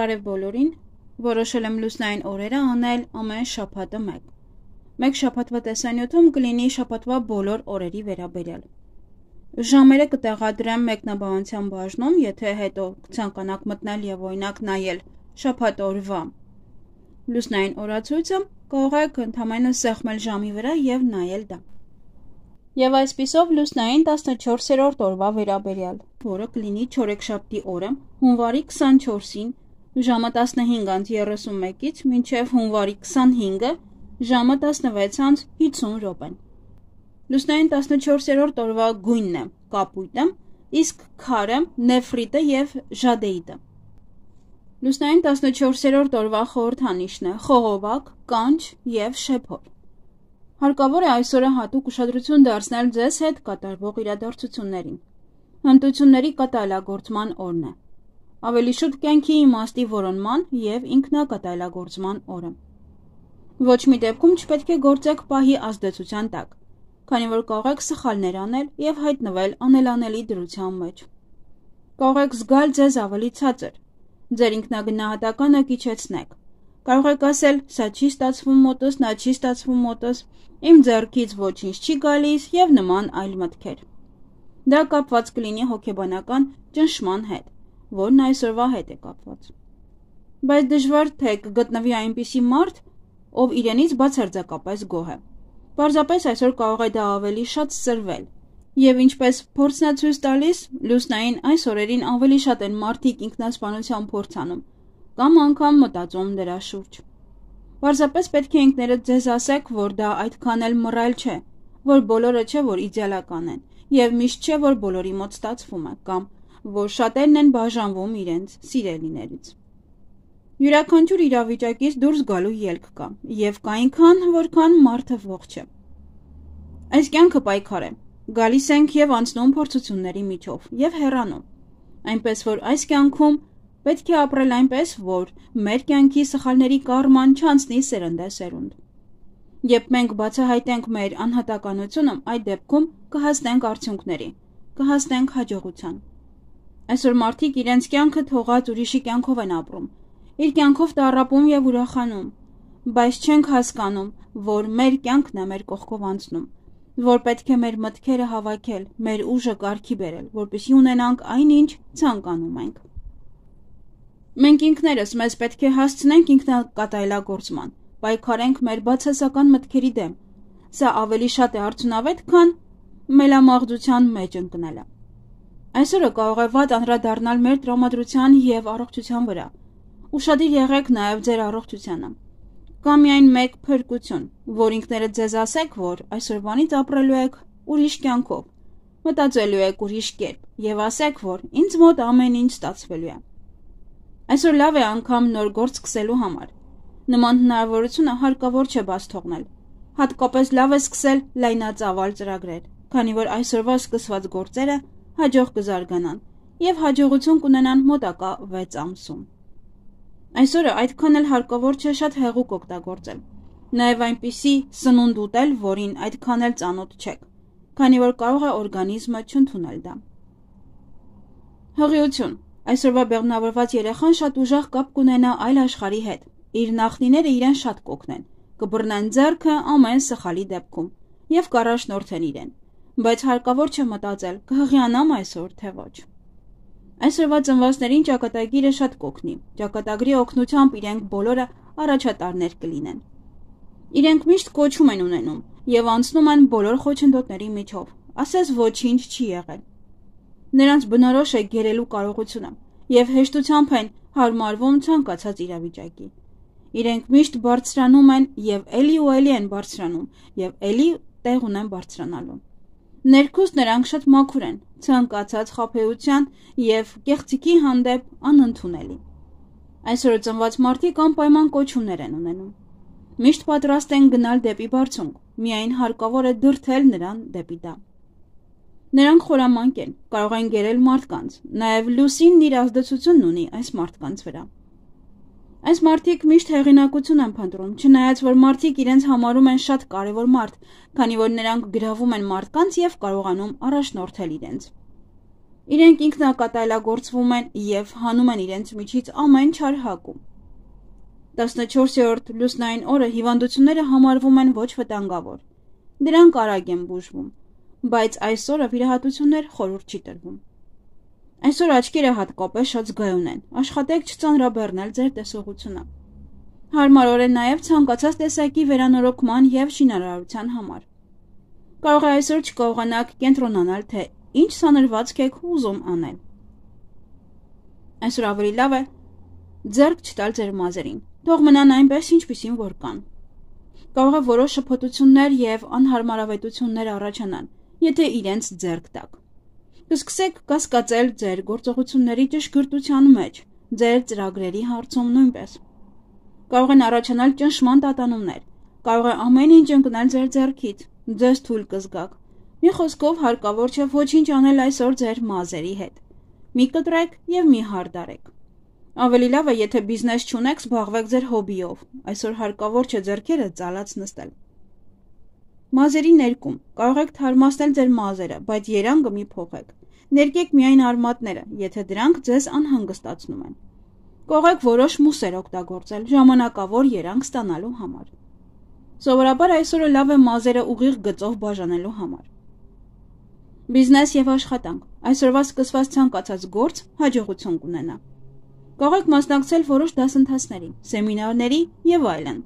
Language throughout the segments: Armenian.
Բարև բոլորին, որոշել եմ լուսնային օրերը անել ամեն շաբաթը մեկ։ Մեկ շաբաթվա տեսանյութում կլինի շաբաթվա բոլոր օրերի վերաբերյալ։ Ժամերը կտեղադրեմ մեկնաբանության բաժնում, եթե հետո ցանկանաք մտնել եւ օրինակ նայել շաբաթ օրվա լուսնային օրացույցը, կարող եք ընդհանրապես սեղմել ժամի վրա եւ նայել դա։ Եվ այսպիսով լուսնային 14-րդ օրվա վերաբերյալ, որը կլինի չորեքշաբթի օրը, հունվարի 24-ին, ժամը 15:31-ից մինչև հունվարի 25-ը, ժամը 16:50 րոպեն։ Լուսնային 14-րդ օրվա գույնն է կապույտը, իսկ քարը նեֆրիտը եւ ժադեիտը։ Լուսնային 14-րդ օրվա խորհրդանիշն է խողովակ, կանչ եւ շեփոր։ Հարկավոր է այսօրը հատուկ ուշադրություն դարձնել ձեզ հետ կատարվող իրադարձություններին։ Հմտությունների կատարելագործման օրն է։ Ավելի շուտ կյանքի իմաստի որոնման եւ ինքնակատարելագործման օրը։ Ոչ մի դեպքում չպետք է գործեք պահի ազդեցության տակ, քանի որ կարող եք սխալներ անել եւ հայտնվել անելանելի դրության մեջ։ Կարող եք զգալ ձեզ ավելի ցածր, ձեր ինքնագնահատականը կիչեցնեք։ Կարող եք ասել, սա չի ստացվում մոտս, նա չի ստացվում մոտս, իմ ձեռքից ոչինչ չի գալիս եւ նման այլ մտքեր։ Դա կապված կլինի հոգեբանական ճնշման հետ, որն այսօրվա հետ է կապված։ Բայց դժվար թե կգտնվի այնպիսի մարդ, ով իրենից բացարձակապես գոհ է։ Պարզապես այսօր կարող է դա ավելի շատ սրվել։ Եվ ինչպես փորձն է ցույց տալիս, լուսնային այս օրերին ավելի շատ են մարդիկ ինքնասպանության փորձ անում, կամ անգամ մտածում դրա շուրջ։ Պարզապես պետք է ինքներդ ձեզ ասեք, որ դա այդքան էլ մռայլ չէ, որ բոլորը չէ, որ իդեալական են, եւ միշտ չէ, որ բոլորի մոտ ստացվում է, կամ որ շատերն են բաժանվում իրենց սիրելիներից։ Յուրաքանչյուր իրավիճակից դուրս գալու ելք կա, եւ կա այնքան, որքան մարդը ողջ է։ Այս կյանքը պայքար է։ Գալիս ենք եւ անցնում փորձությունների միջով եւ հեռանում։ Այնպես որ այս կյանքում պետք է ապրել այնպես, որ մեր կյանքի սխալների կարման չանցնի սերնդեսերունդ։ Երբ մենք բացահայտենք մեր անհատականությունը, այդ դեպքում կհասնենք արդյունքների, կհասնենք հաջողության։ Այսօր մարդիկ իրենց կյանքը թողած ուրիշի կյանքով են ապրում, իր կյանքով տառապում եւ ուրախանում, բայց չենք հասկանում, որ մեր կյանքն է մեր կողքով անցնում, որ պետք է մեր մտքերը հավաքել, մեր ուժը կարգի բերել, որպեսզի ունենանք այնինչ ցանկանում ենք։ Մենք ինքներս մեզ պետք է հասցնենք ինքնակատարելագործման, պայքարենք մեր բացասական մտքերի դեմ։ Սա ավելի շատ է արդյունավետ, քան մելամաղձության մեջ ընկնելը։ Այսօրը կարող է վատ անդրադառնալ մեր տրամադրության եւ առողջության վրա։ Ուշադիր եղեք նաեւ ձեր առողջությանը։ Կա միայն մեկ փրկություն, որ ինքներդ ձեզ ասեք, որ այսօրվանից ապրելու եք ուրիշ կյանքով, մտածելու եք ուրիշ կերպ եւ ասեք, որ ինձ մոտ ամեն ինչ ստացվելու է։ Այսօր լավ է անգամ նոր գործ սկսելու համար։ Նման հնարավորությունը հարկավոր չէ բաց թողնել։ Հատկապես լավ է սկսել լայնածավալ ծրագրեր, քանի որ այսօրվա սկսված գործերը հաջող կզարգանան եւ հաջողություն կունենան մոտակա 6 ամսում։ Այսօրը այդքան էլ հարկավոր չէ շատ հեղուկ օգտագործել։ Նաեւ այնպիսի սնունդ ուտել, որին այդքան էլ ծանոթ չեք, քանի որ կարող է օրգանիզմը չընդունել դա։ Հղիություն։ Այսօրվա բեղմնավորված երեխան շատ ուժեղ կապ կունենա այլ աշխարհի հետ։ Իր նախնիները իրեն շատ կօգնեն, կբռնեն ձեռքը ամեն սխալի դեպքում եւ կառաջնորդեն իրեն։ Բայց հարկավոր չէ մտածել, կհղիանամ այսօր թե ոչ։ Այսօրվա ծնվածներին ճակատագիրը շատ կօգնի։ Ճակատագրի օգնությամբ իրենք բոլորը առաջատարներ կլինեն։ Իրենք միշտ կոչում են ունենում եւ անցնում են բոլոր խոչընդոտների միջով, ասես ոչինչ չի եղել։ Նրանց բնորոշ է գերելու կարողությունը եւ հեշտությամբ են հարմարվում ցանկացած իրավիճակի։ Իրենք միշտ բարձրանում են եւ էլի ու էլի են բարձրանում եւ էլի տեղ ունեն բարձրանալու։ Ներքուստ նրանք շատ մաքուր են, ցանկացած խաբեության եւ կեղծիքի հանդեպ անընդունելի։ Այսօր ծնված մարդիկ անպայման կոչումներ են ունենում։ Միշտ պատրաստ են գնալ դեպի բարձունք, միայն հարկավոր է դրդել նրան դեպի դա։ Նրանք խորամանկ են, կարող են գերել մարդկանց, նաև լուսինն իր ազդեցությունն ունի այս մարդկանց վրա։ Այս մարդիկ միշտ հեղինակություն են փնտրում, չնայած որ մարդիկ իրենց համարում են շատ կարևոր մարդ, քանի որ նրանք գրավում են մարդկանց եւ կարողանում առաջնորդել իրենց։ Իրենք ինքնակատալագործվում են և հանում են իրենց միջից ամեն չար հակում։ 14-րդ լուսնային օրը հիվանդությունները համարվում են ոչ վտանգավոր։ Դրանք արագ են բուժվում, բայց այս օրը վիրահատություններ խորհուրդ չի տրվում։ Այսօր աչքերը հատկապես շատ զգայուն են, աշխատեք չծանրաբեռնել ձեր տեսողությունը։ Հարմար օր է նաև ցանկացած տեսակի վերանորոգման և շինարարության համար։ Կարող է այսօր չկարողանաք կենտրոնանալ, թե ինչ սանրվածք եք ուզում անել։ Այսօր ավելի լավ է ձեռք չտալ ձեր մազերին, թող մնան այնպես, ինչպիսին որ կան։ Կարող է որոշ շփոթություններ և անհարմարավետություններ առաջանան, եթե իրենց ձեռք տաք։ Կսկսեք կասկածել ձեր գործողությունների ճշգրտության մեջ, ձեր ծրագրերի հարցում նույնպես։ Կարող են առաջանալ ճնշման տատանումներ, կարող է ամեն ինչ ընկնել ձեր ձեռքից, ձեզ թույլ կզգաք։ Մի խոսքով հարկավոր չէ ոչինչ անել այսօր ձեր մազերի հետ։ Մի կտրեք և մի հարդարեք։ Ավելի լավ է, եթե բիզնես չունեք, զբաղվեք ձեր հոբիով, այսօր հարկավոր չէ ձեռքերը ծալած նստել։ Մազերի ներկում, կարող եք թարմացնել ձեր մազերը, բայց երանգը մի փոխեք։ Ներկեք միայն արմատները, եթե դրանք ձեզ անհանգստացնում են։ Կարող եք որոշ մուսեր օգտագործել ժամանակավոր երանգ ստանալու համար։ Սովորաբար այսօրը լավ է մազերը ուղիղ գծով բաժանելու համար։ Բիզնես և աշխատանք, այսօրվա սկսված ցանկացած գործ հաջողություն կունենա։ Կարող եք մասնակցել որոշ դասընթացների, սեմինարների և այլն։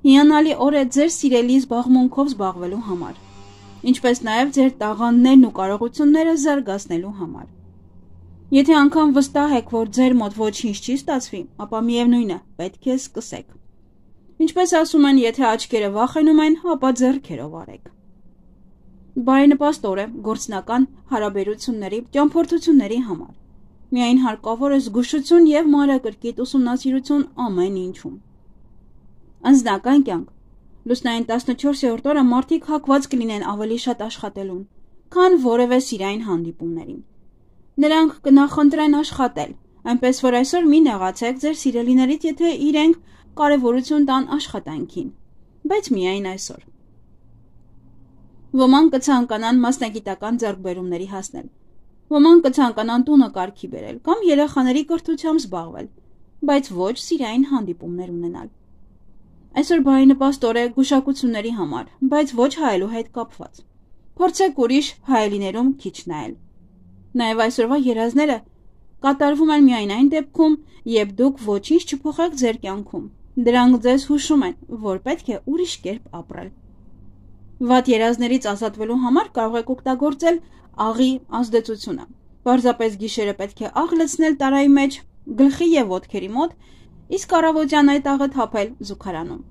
Հիանալի օր է ձեր սիրելի զբաղմունքով զբաղվելու համար, ինչպես նաև ձեր տաղանդներն ու կարողությունները զարգացնելու համար։ Եթե անգամ վստահ եք, որ ձեր մոտ ոչինչ չի ստացվի, ապա միևնույն է, պետք է սկսեք։ Ինչպես ասում են, եթե աչքերը վախենում են, ապա ձեռքերով արեք։ Բարենպաստ օր է գործնական հարաբերությունների ճամփորդությունների համար։ Միայն հարկավոր է զգուշություն և մանրակրկիտ ուսումնասիրություն ամեն ինչում։ Անձնական կյանք։ Լուսնային 14-րդ օրը մարդիկ հակված կլինեն ավելի շատ աշխատելուն, քան որևէ սիրային հանդիպումներին։ Նրանք կնախընտրեն աշխատել, այնպես որ այսօր մի նեղացեք ձեր սիրելիներից, եթե իրենք կարևորություն տան աշխատանքին, բայց միայն այսօր։ Ոմանք կցանկանան մասնագիտական ձեռքբերումների հասնել, ոմանք կցանկանան տունը կարգի բերել կամ երեխաների կրթությամբ զբաղվել, բայց ոչ սիրային հանդիպումներ ունենալ։ Այսօր բարենպաստ օր է գուշակությունների համար, բայց ոչ հայելու հետ կապված։ Փորձեք ուրիշ հայելիներում քիչ նայել։ Նաև այսօրվա երազները կատարվում են միայն այն դեպքում, երբ դուք ոչինչ չփոխեք ձեր կյանքում։ Դրանք ձեզ հուշում են, որ պետք է ուրիշ կերպ ապրել։ Վատ երազներից ազատվելու համար կարող եք օգտագործել աղի ազդեցությունը։ Պարզապես գիշերը պետք է աղ լցնել տարայի մեջ, գլխի և ոտքերի մոտ, իսկ առավոտյան այդ աղը թափել զուգարանում։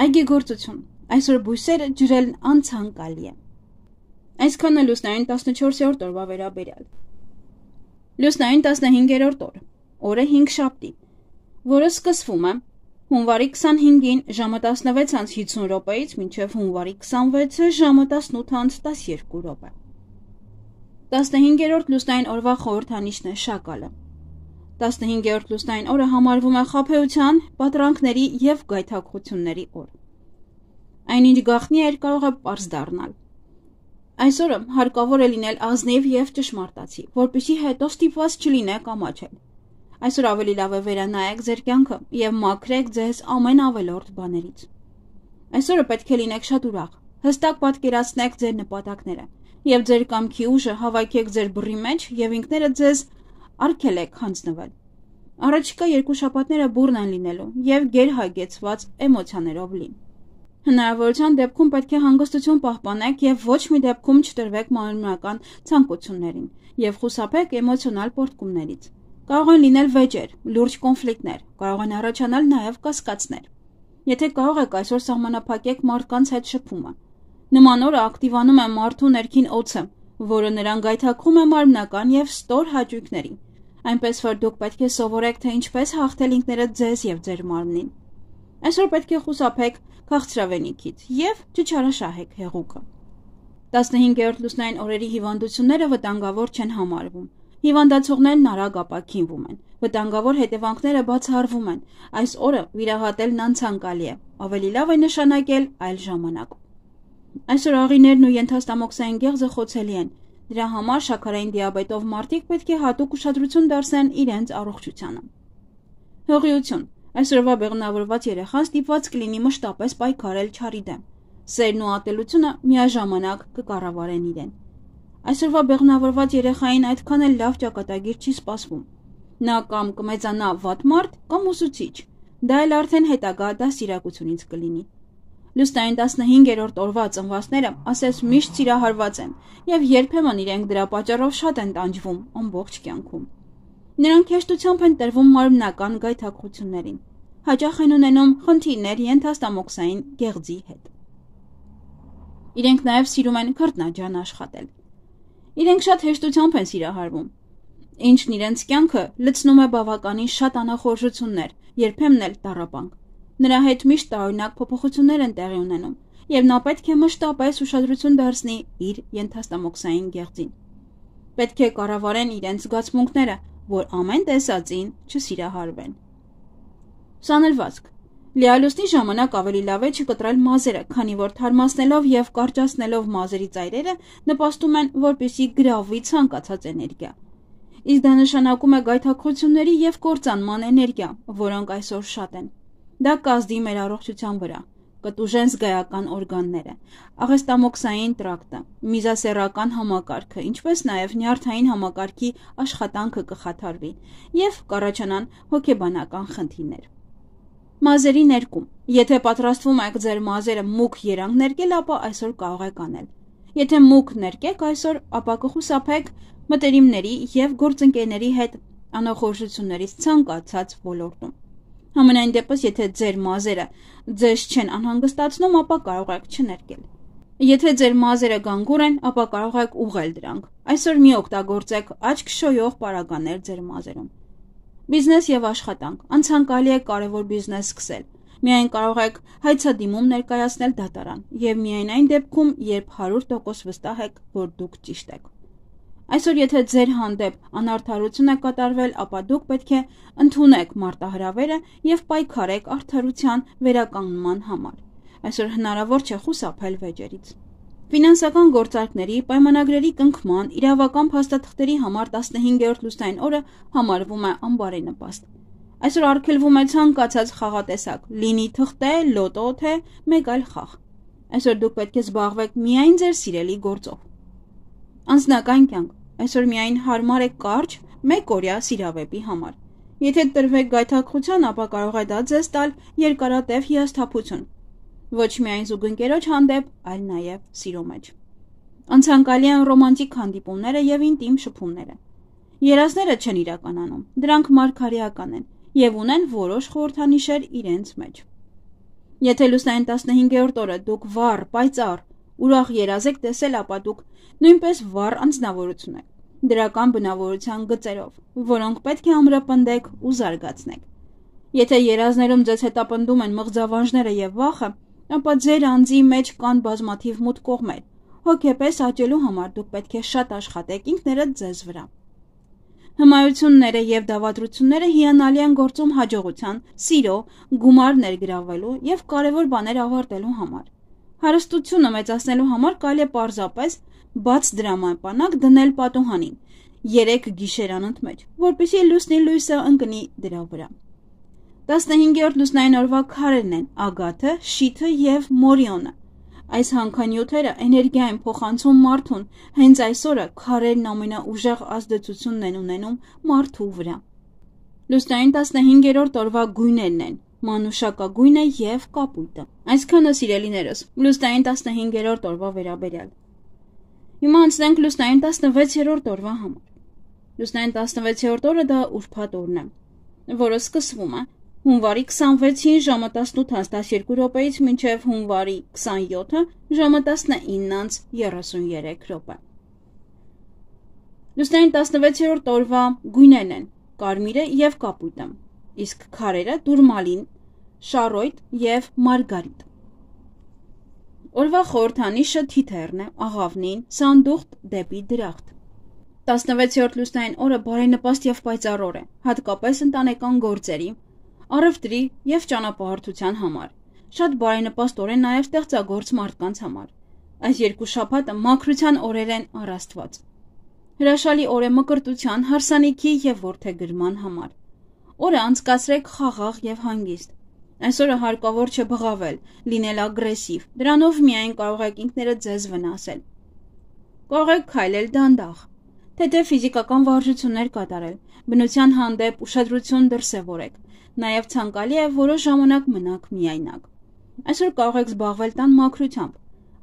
Այգեգործություն։ Այսօր բույսերը ջրելն անցանկալի է։ Այսքանը լուսնային 14-րդ օրվա վերաբերյալ։ Լուսնային 15-րդ օր, օրը 5 որը սկսվում է հունվարի 25-ին ժամը 16:50 րոպեից մինչև հունվարի 26-ը ժամը 18:12 րոպե։ 15-րդ լուսնային օրվա խորհրդանիշն է շակալը։ 15-րդ լուսնային օրը համարվում է խաբեության, պատրանքների և գայթակղությունների օր։ Այնինչ գաղտնի էր կարող է պարզ դառնալ։ Այսօրը հարկավոր է լինել ազնիվ և ճշմարտացի, որպեսզի հետո ստիպված չլինեք ամաչել։ Այսօր ավելի լավ է վերանայեք ձեր կյանքը և մաքրեք ձեզ ամեն ավելորդ բաներից։ Այսօրը պետք է լինեք շատ ուրախ, հստակ պատկերացնեք ձեր նպատակները և ձեր կամքի ուժը հավաքեք ձեր բռի մեջ և ինքներդ ձեզ արգելեք հանձնվել։ Առաջիկա 2 շաբաթները բուռն են լինելու և գերհագեցված էմոցիաներով լի։ Հնարավորության դեպքում պետք է հանգստություն պահպանեք և ոչ մի դեպքում չտրվեք մարմնական ցանկություններին և խուսափեք էմոցիոնալ պոռթկումներից։ Կարող են լինել վեճեր, լուրջ կոնֆլիկտներ, կարող են առաջանալ նաև կասկածներ։ Եթե կարող եք այսօր սահմանափակեք մարդկանց հետ շփումը։ Նման օրը ակտիվանում է մարդու ներքին օձը, որը նրան գայթակղում է մարմնական և ստոր հաճույքների, այնպես որ դուք պետք է սովորեք, թե ինչպես հաղթել ինքներդ ձեզ և ձեր մարմնին։ Այսօր պետք է խուսափեք քաղցրավենիքից և չչարաշահեք հեղուկը։ 15-րդ լուսնային օրերի հիվանդությունները վտանգավոր չեն համարվում։ Հիվանդացողներն արագ ապաքինվում են, վտանգավոր հետևանքները բացահարվում են, այս օրը վիրահատելն անցանկալի է, ավելի լավ է նշանակել այլ ժամանակ։ Այսօր աղիներն ու ենթաստամոքսային գեղձը խոցելի են, Դրա համար շաքարային դիաբետով մարդիկ պետք է հատուկ ուշադրություն դարձնեն իրենց առողջությանը։ Հղիություն։ Այսօրվա բեղմնավորված երեխան ստիպված կլինի մշտապես պայքարել չարի դեմ։ Սերն ու ատելությունը միաժամանակ կկառավարեն իրեն։ Այսօրվա բեղմնավորված երեխային այդքան էլ լավ ճակատագիր չի սպասվում։ Նա կամ կմեծանա վատ մարդ, կամ ուսուցիչ։ Դա էլ արդեն հետագա դաստիարակությունից կլինի։ Լուսնային 15-րդ օրվա ծնվածները ասես միշտ սիրահարված են եւ երբեմն իրենք դրա պատճառով շատ են տանջվում ամբողջ կյանքում։ Նրանք հեշտությամբ են տրվում մարմնական գայթակղություններին, հաճախ են ունենում խնդիրներ ենթաստամոքսային գեղձի հետ։ Իրենք նաեւ սիրում են քրտնաջան աշխատել։ Իրենք շատ հեշտությամբ են սիրահարվում, ինչն իրենց կյանքը լցնում է բավականին շատ անախորժություններ, երբեմն էլ տառապանք։ Նրա հետ միշտ տարօրինակ փոփոխություններ են տեղի ունենում, եւ նա պետք է մշտապես ուշադրություն դարձնի իր ենթաստամոքսային գեղձին։ Պետք է կառավարեն իրենց զգացմունքները, որ ամեն տեսածին չսիրահարվեն։ Սանրվածք։ Լիալուսնի ժամանակ ավելի լավ է չկտրել մազերը, քանի որ թարմացնելով եւ կարճացնելով մազերի ծայրերը նպաստում են, որպեսզի գրավվի ցանկացած էներգիա։ Իսկ դա նշանակում է գայթակղությունների եւ կործանման էներգիա, որոնք այսօր շատ են։ Դա կազդի մեր առողջության վրա, կտուժեն զգայական օրգանները, աղեստամոքսային տրակտը, միզասեռական համակարգը, ինչպես նաև նյարդային համակարգի աշխատանքը կխաթարվի եւ կառաջանան հոգեբանական խնդիրներ։ Մազերի ներկում։ Եթե պատրաստվում եք ձեր մազերը մուգ երանգ ներկել, ապա այսօր կարող եք անել։ Եթե մուգ ներկեք այսօր, ապա կխուսափեք մտերիմների եւ գործընկերների հետ անախորժություններից ցանկացած ոլորտում։ Համենայն դեպս, եթե ձեր մազերը ձեզ չեն անհանգստացնում, ապա կարող եք չներկել։ Եթե ձեր մազերը գանգուր են, ապա կարող եք ուղղել դրանք։ Այսօր մի օգտագործեք աչք շոյող պարագաներ ձեր մազերում։ Բիզնես եւ աշխատանք։ Անցանկալի է կարևոր բիզնես սկսել։ Միայն կարող եք հայցադիմում ներկայացնել դատարան եւ միայն այն դեպքում, երբ 100% վստահ եք, որ դուք ճիշտ եք։ Այսօր եթե ձեր հանդեպ անարդարություն է կատարվել, ապա դուք պետք է ընդունեք մարտահրավերը եւ պայքարեք արդարության վերականգնման համար։ Այսօր հնարավոր չէ խուսափել վեճերից։ Ֆինանսական գործարքների, պայմանագրերի կնքման, իրավական փաստաթղթերի համար 15-րդ լուսնային օրը համարվում է անբարենպաստ։ Այսօր արգելվում է ցանկացած խաղատեսակ, լինի թղթե, լոտո, թե մեկ այլ խաղ։ Այսօր դուք պետք է զբաղվեք միայն ձեր սիրելի գործով։ Անձնական կյանք։ Այսօր միայն հարմար է կարճ, մեկօրյա սիրավեպի համար։ Եթե տրվեք գայթակղության, ապա կարող է դա ձեզ տալ երկարատև հիասթափություն։ Ոչ միայն զուգընկերոջ հանդեպ, այլ նաև սիրո մեջ։ Անցանկալի են ռոմանտիկ հանդիպումները եւ ինտիմ շփումները։ Երազները չեն իրականանում, դրանք մարգարեական են եւ ունեն որոշ խորհրդանիշեր իրենց մեջ։ Եթե լուսնային 15-րդ օրը դուք վառ, պայծառ, ուրախ երազ եք տեսել, ապա դուք նույնպես վառ անձնավորություն եք, դրական բնավորության գծերով, որոնք պետք է ամրապնդեք ու զարգացնեք։ Եթե երազներում ձեզ հետապնդում են մղձավանջները եւ վախը, ապա ձեր անձի մեջ կան բազմաթիվ մութ կողմեր։ Հոգեպես աճելու համար դուք պետք է շատ աշխատեք ինքներդ ձեզ վրա։ Հմայությունները եւ դավադրությունները հիանալի են գործում հաջողության, սիրո, գումար ներգրավելու եւ կարեւոր բաներ ավարտելու համար։ Հարստությունը մեծացնելու համար կարելի է պարզապես բաց դրամապանակ դնել պատուհանին 3 գիշերանոց մեջ, որպեսզի լուսնի լույսը ընկնի դրա վրա։ 15-րդ լուսնային օրվա քարերն են ագաթը, շիթը եւ մորիոնը։ Այս հանքանյութերը էներգիա են փոխանցում մարդուն, հենց այսօրը քարերն ամենաուժեղ ազդեցությունն են ունենում մարդու վրա։ Լուսնային 15-րդ օրվա գույներն են մանուշակագույնը եւ կապույտը։ Այսքանը սիրելիներս, լուսնային 15-րդ օրվա վերաբերյալ։ Հիմա անցնենք լուսնային 16-րդ օրվա համար։ Լուսնային 16-րդ օրը դա ուրբաթ օրն է, որը սկսվում է հունվարի 26-ին ժամը 18:12 րոպեից մինչև հունվարի 27-ը ժամը 19:33 րոպե։ Լուսնային 16-րդ օրվա գույներն են կարմիրը եւ կապույտը, իսկ քարերը դուրմալին, շարոյտ եւ մարգարիտ։ Օրվա խորհրդանիշը թիթեռն է, աղավնին, սանդուղտ դեպի դրախտ։ 16-րդ լուսնային օրը բարենպաստ եւ պայծառ օր է, հատկապես ընտանեկան գործերի, առևտրի եւ ճանապարհորդության համար։ Շատ բարենպաստ օր է նաեւ ստեղծագործ մարդկանց համար։ Այս երկու շաբաթը մաքրության օրեր են առ Աստված։ Հրաշալի օր է մկրտության, հարսանիքի և որդեգրման համար։ Օրը անցկացրեք խաղաղ և հանգիստ։ Այսօրը հարկավոր չէ բղավել, լինել ագրեսիվ, դրանով միայն կարող եք ինքներդ ձեզ վնասել։ Կարող եք քայլել դանդաղ, թեթև ֆիզիկական վարժություններ կատարել, բնության հանդեպ ուշադրություն դրսևորեք, նաև ցանկալի է որոշ ժամանակ մնաք միայնակ։ Այսօր կարող եք զբաղվել տան մաքրությամբ,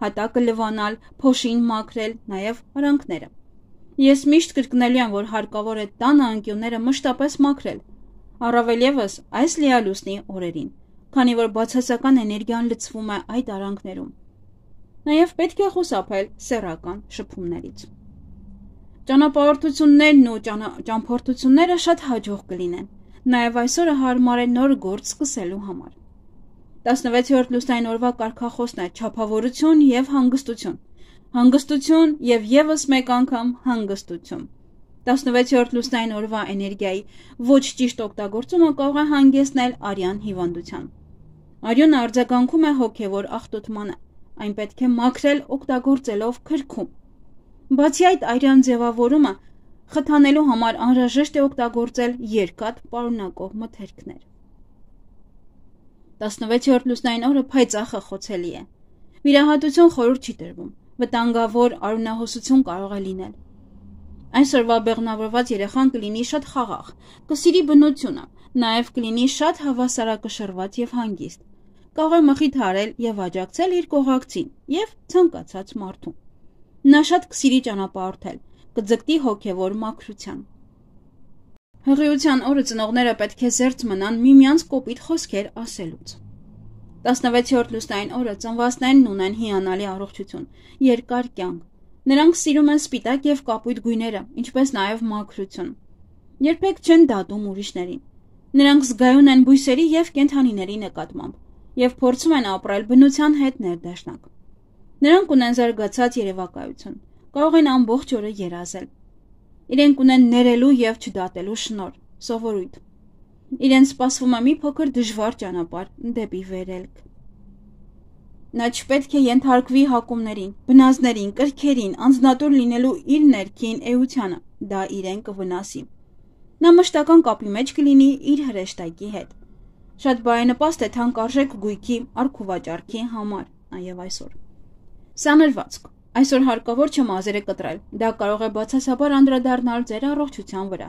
հատակը լվանալ, փոշին մաքրել, նաև արանքները։ Ես միշտ կրկնելու եմ, որ հարկավոր է տանը անկյունները մշտապես մաքրել, առավել ևս այս լիալուսնի օրերին, քանի որ բացասական էներգիան լցվում է այդ արանքներում։ Նաև պետք է խուսափել սեռական շփումներից։ Ճանապարհորդություններն ու ճամփորդությունները շատ հաջող կլինեն, նաև այսօրը հարմար է նոր գործ սկսելու համար։ 16-րդ լուսնային օրվա կարգախոսն է չափավորություն և հանգստություն, հանգստություն և ևս մեկ անգամ հանգստություն։ 16-րդ լուսնային օրվա էներգիայի ոչ ճիշտ օգտագործումը կարող է հանգեցնել արյան հիվանդության։ Արյունը արձագանքում է հոգևոր աղտոտմանը, այն պետք է մաքրել օգտագործելով քրքում։ Բացի այդ, արյան ձևավորումը խթանելու համար անհրաժեշտ է օգտագործել երկաթ պարունակող մթերքներ։ 16-րդ լուսնային օրը փայծախը խոցելի է։ Վիրահատություն խորհուրդ չի տրվում, վտանգավոր արյունահոսություն կարող է լինել։ Այսօրվա բեղմնավորված երեխան կլինի շատ խաղաղ, կսիրի բնությունը, նաև կլինի շատ հավասարակշռված և հանգիստ, կարող է մխիթարել և աջակցել իր կողակցին և ցանկացած մարդուն։ Նա շատ կսիրի ճանապարհորդել, կձգտի հոգևոր մաքրության։ Հղիության օրը ծնողները պետք է զերծ մնան միմյանց կոպիտ խոսքեր ասելուց։ 16-րդ լուսնային օրը ծնվածներն ունեն հիանալի առողջություն, երկար կյանք։ Նրանք սիրում են սպիտակ և կապույտ գույները, ինչպես նաև մաքրություն։ Երբեք չեն դատում ուրիշներին։ Նրանք զգայուն են բույսերի և կենդանիների նկատմամբ և փորձում են ապրել բնության հետ ներդաշնակ։ Նրանք ունեն զարգացած երևակայություն, կարող են ամբողջ օրը երազել։ Իրենք ունեն ներելու և չդատելու շնորհ, սովորույթ։ Իրենց սպասվում է մի փոքր դժվար ճանապարհ դեպի վերելք։ Նա չպետք է ենթարկվի հակումներին, բնազդներին, կրքերին, անձնատուր լինելու իր ներքին էությանը, դա իրեն կվնասի։ Նա մշտական կապի մեջ կլինի իր հրեշտակի հետ։ Շատ բարենպաստ է թանկարժեք գույքի առքուվաճառքի համար, նաև այսօր։ Սանրվածք։ Այսօր հարկավոր չէ մազերը կտրել, դա կարող է բացասաբար անդրադառնալ ձեր առողջության վրա։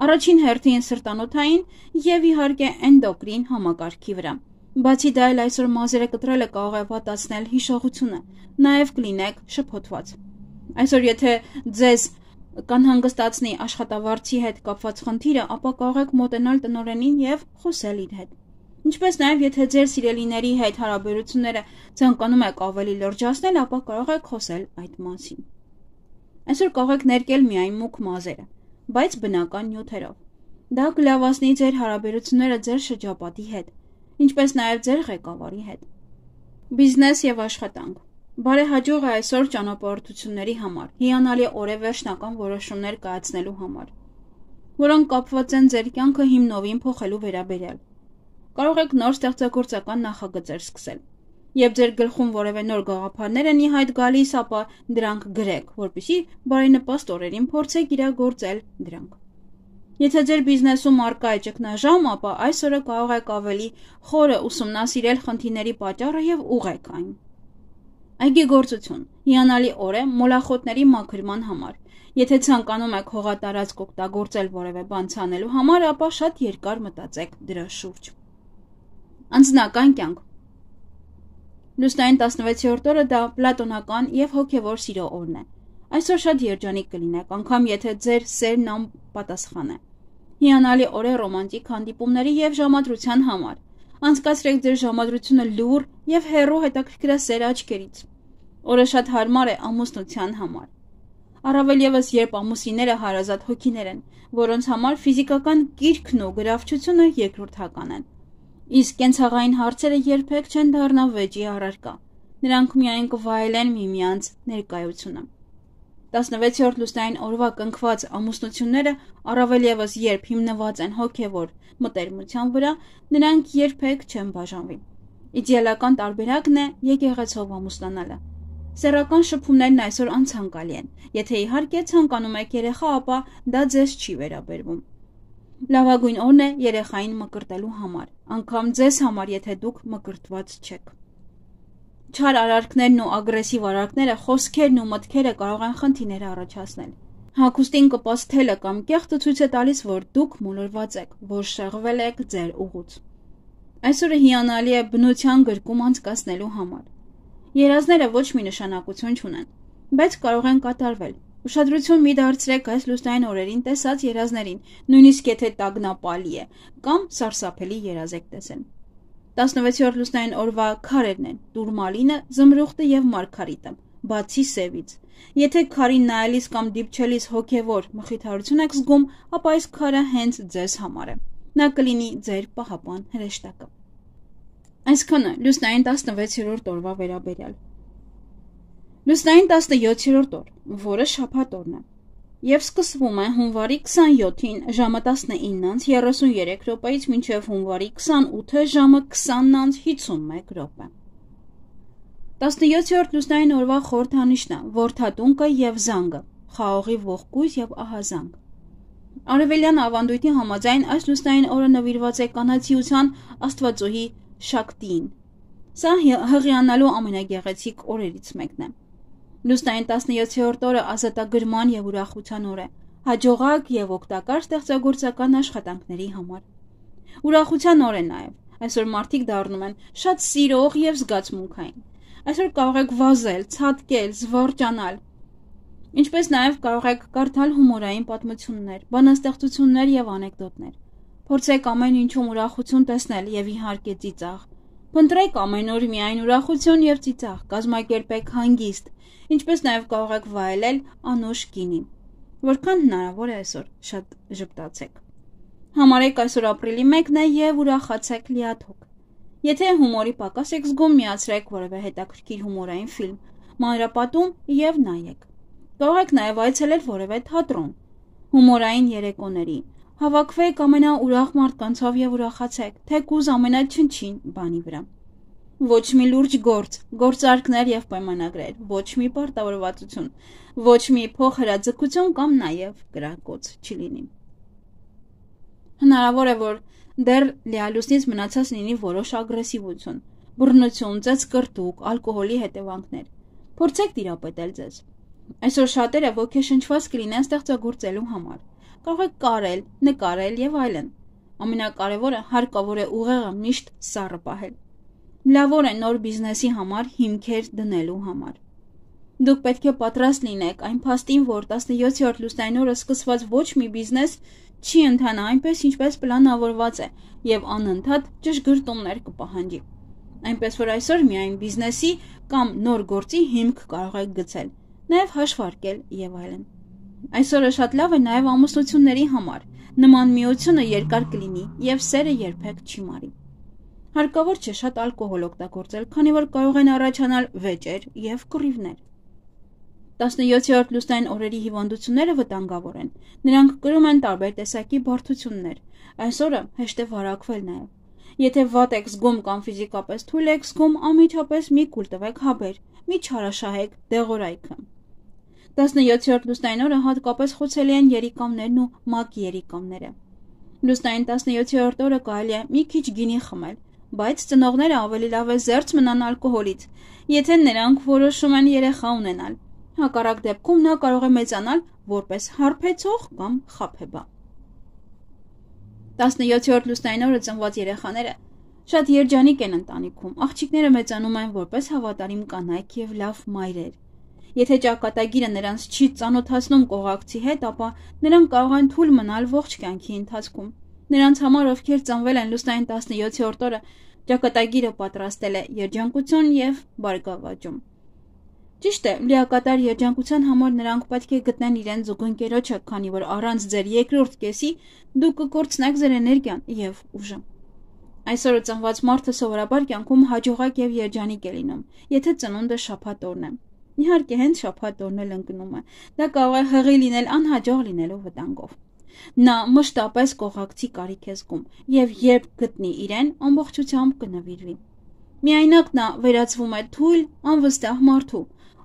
Առաջին հերթին սրտանոթային և իհարկե էնդոկրին համակարգի վրա։ Բացի դա էլ այսօր մազերը կտրելը կարող է վատացնել հիշողությունը, նաև կլինեք շփոթված։ Այսօր եթե ձեզ կանհանգստացնի աշխատավարձի հետ կապված խնդիրը, ապա կարող եք մոտենալ տնօրենին և խոսել իր հետ։ Ինչպես նաև եթե ձեր սիրելիների հետ հարաբերությունները ցանկանում եք ավելի լրջացնել, ապա կարող եք խոսել այդ մասին։ Այսօր կարող եք ներկել միայն մուգ մազերը, բայց բնական նյութերով։ Դա կլավացնի ձեր հարաբերությունները ձեր շրջապատի հետ, ինչպես նաև ձեր ղեկավարի հետ։ Բիզնես և աշխատանք։ Բարեհաջող է այսօր ճանապարհորդությունների համար, հիանալի օր է վերջնական որոշումներ կայացնելու համար, որոնք կապված են ձեր կյանքը հիմնովին փոխելու վերաբերյալ։ Կարող եք նոր ստեղծագործական նախագծեր սկսել։ Երբ ձեր գլխում որևէ նոր գաղափարներ են ի հայտ գալիս, ապա դրանք գրեք, որպեսզի բարենպաստ օրերին փորձեք իրագործել դրանք։ Եթե ձեր բիզնեսում առկա է ճգնաժամ, ապա այս օրը կարող եք ավելի խորը ուսումնասիրել խնդիրների պատճառը և ուղղեք այն։ Այգեգործություն։ Հիանալի օր է մոլախոտների մաքրման համար։ Եթե ցանկանում եք հողատարածք օգտագործել որևէ բան ցանելու համար, ապա շատ երկար մտածեք դրա շուրջ։ Անձնական կյանք։ Լուսնային 16-րդ օրը դա պլատոնական և հոգևոր սիրո օրն է։ Այսօր շատ երջանիկ կլինեք, անգամ եթե ձեր սերն անպատասխան է։ Հիանալի օր է ռոմանտիկ հանդիպումների և ժամադրության համար։ Անցկացրեք ձեր ժամադրությունը լուռ և հեռու հետաքրքրասեր աչքերից։ Օրը շատ հարմար է ամուսնության համար։ Առավել ևս, երբ ամուսինները հարազատ հոգիներ են, որոնց համար ֆիզիկական կիրքն ու գրավչությունը երկրորդական են։ Իսկ կենցաղային հարցերը երբեք չեն դառնա վեճի առարկա։ Նրանք միայն կվայելեն միմյանց ներկայությունը։ 16-րդ լուսնային օրվա կնքված ամուսնությունները, առավել ևս երբ հիմնված են հոգևոր մտերմության վրա, նրանք երբեք չեն բաժանվի։ Իդեալական տարբերակն է եկեղեցով ամուսնանալը։ Սեռական շփումներն այսօր անցանկալի են։ Եթե իհարկե ցանկանում եք երեխա, ապա դա ձեզ չի վերաբերվում։ Լավագույն օրն է երեխային մկրտելու համար, անգամ ձեզ համար, եթե դուք մկրտված չեք։ Չար արարքներն ու ագրեսիվ արարքները, խոսքերն ու մտքերը կարող են խնդիրներ առաջացնել։ Հագուստին կպած թելը կամ կեղտը ցույց է տալիս, որ դուք մոլորված եք, որ շեղվել եք ձեր ուղուց։ Այսօրը հիանալի է բնության գրկում անցկացնելու համար։ Երազները ոչ մի նշանակություն չունեն, բայց կարող են կատարվել։ Ուշադրություն մի դարձրեք այս լուսնային օրերին տեսած երազներին, նույնիսկ եթե տագնապալի է, կամ սարսափելի երազ եք տեսել։ 16-րդ լուսնային օրվա քարերն են՝ տուրմալինը, զմրուխտը եւ մարգարիտը, բացի սևից։ Եթե քարին նայելիս կամ դիպչելիս հոգևոր մխիթարություն եք զգում, ապա այս քարը հենց ձեզ համար է։ Նա կլինի ձեր պահապան հրեշտակը։ Այսքանը լուսնային 16-րդ օրվա վերաբերյալ։ Լուսնային 17-րդ օր, որը շաբաթ օրն է, եւ սկսվում է հունվարի 27-ին ժամը 19:33 րոպեից մինչև հունվարի 28-ը ժամը 20:51 րոպե։ 17-րդ լուսնային օրվա խորհրդանիշն է որդատունկը եւ զանգը, խաղողի ողկույզ եւ ահազանգ։ Արևելյան ավանդույթի համաձայն այս լուսնային օրը նվիրված է կանացիության աստվածուհի Շակտիին։ Սա հղիանալու ամենագեղեցիկ օրերից մեկն է։ Լուսնային 17-րդ օրը ազատագրման եւ ուրախության օր է, հաջողակ եւ օգտակար ստեղծագործական աշխատանքների համար։ Ուրախության օր է նաեւ։ Այսօր մարդիկ դառնում են շատ սիրող եւ զգացմունքային։ Այսօր կարող եք վազել, ցատկել, զվարճանալ։ Ինչպես նաեւ կարող եք կարդալ հումորային պատմություններ, բանաստեղծություններ եւ անեկդոտներ։ Փորձեք ամեն ինչում ուրախություն տեսնել եւ իհարկե ծիծաղ։ Փնտրեք ամեն օր միայն ուրախություն եւ ծիծաղ, կազմակերպեք հանգիստ, ինչպես նաեւ կարող եք վայելել անուշ գինի։ Որքան հնարավոր է այսօր շատ ժպտացեք։ Համարեք այսօր ապրիլի 1-ն է եւ ուրախացեք լիաթոք։ Եթե հումորի պակաս եք զգում, միացրեք որևէ հետաքրքիր հումորային ֆիլմ, մանրապատում եւ նայեք։ Կարող եք նաեւ այցելել որևէ թատրոն, հումորային երեկոների։ Հավաքվեք ամենաուրախ մարդկանցով եւ ուրախացեք, թեկուզ ամենաչնչին բանի վրա։ Ոչ մի լուրջ գործարքներ եւ պայմանագրեր, ոչ մի պարտավորվածություն, ոչ մի փոխհրաձգություն կամ նաեւ կրակոց չլինի։ Հնարավոր է, որ դեռ լիալուսնից մնացած լինի որոշ ագրեսիվություն, բռնություն, ծեծկրտուկ, ալկոհոլի հետևանքներ։ Փորձեք տիրապետել ձեզ։ Այսօր շատերը ոգեշնչված կլինեն ստեղծագործելու համար։ Կարող եք կարել, նկարել եւ այլն։ Ամենակարևորը հարկավոր է ուղեղը միշտ սառը պահել։ Լավոր է նոր բիզնեսի համար հիմքեր դնելու համար։ Դուք պետք է պատրաստ լինեք այն փաստին, որ 17-րդ լուսնային օրը սկսված ոչ մի բիզնես չի ընթանա այնպես, ինչպես պլանավորված է, եւ անընդհատ ճշգրտումներ կպահանջի։ Այնպես որ այսօր միայն բիզնեսի կամ նոր գործի հիմք կարող եք գցել, նաեւ հաշվարկել եւ այլն։ Այսօրը շատ լավ է նաեւ ամուսնությունների համար։ Նման միությունը երկար կլինի եւ սերը երբեք չի մարի։ Հարկավոր չէ շատ ալկոհոլ օգտագործել, քանի որ կարող են առաջանալ վեճեր եւ կռիվներ։ 17-րդ լուսնային օրերի հիվանդությունները վտանգավոր են։ Նրանք կրում են տարբեր տեսակի բարդություններ։ Այսօրը հեշտ է վարակվել նաեւ։ Եթե վատ եք զգում կամ ֆիզիկապես թույլ եք զգում, անմիջապես մի կուլ տվեք հաբեր, մի չարաշահեք դեղորայքը։ 17-րդ լուսնային օրը հատկապես խոցելի են երիկամներն ու մակ երիկամները։ Լուսնային 17-րդ օրը կարելի է մի քիչ գինի խմել, բայց ծնողները ավելի լավ է զերծ մնան ալկոհոլից, եթե նրանք որոշում են երեխա ունենալ։ Հակառակ դեպքում նա կարող է մեծանալ որպես հարբեցող կամ խաբեբա։ 17-րդ լուսնային օրը ծնված երեխաները շատ երջանիկ են ընտանիքում։ Աղջիկները մեծանում են որպես հավատարիմ կանայք եւ լավ մայրեր։ Եթե ճակատագիրը նրանց չի ծանոթացնում կողակցի հետ, ապա նրանք կարող են թույլ մնալ ողջ կյանքի ընթացքում։ Նրանց համար, ովքեր ծնվել են լուսնային 17-րդ օրը, ճակատագիրը պատրաստել է երջանկություն եւ բարգավաճում։ Ճիշտ է, լիակատար երջանկության համար նրանք պետք է գտնեն իրենց զուգընկերոջը, քանի որ առանց ձեր երկրորդ կեսի դուք կկորցնեք ձեր էներգիան եւ ուժը։ Այսօր ծնված մարդը սովորաբար կյանքում հաջողակ եւ երջանիկ է լինում, եթե ծնունդը շաբաթ օրն է։ Իհարկե, հենց շաբաթ օրն էլ ընկնում է։ Դա կարող է հղի լինել անհաջող լինելու վտանգով։ Նա մշտապես կողակցի կարիք է զգում եւ երբ գտնի իրեն, ամբողջությամբ կնվիրվի։ Միայնակ նա վերածվում է թույլ, անվստահ մարդու,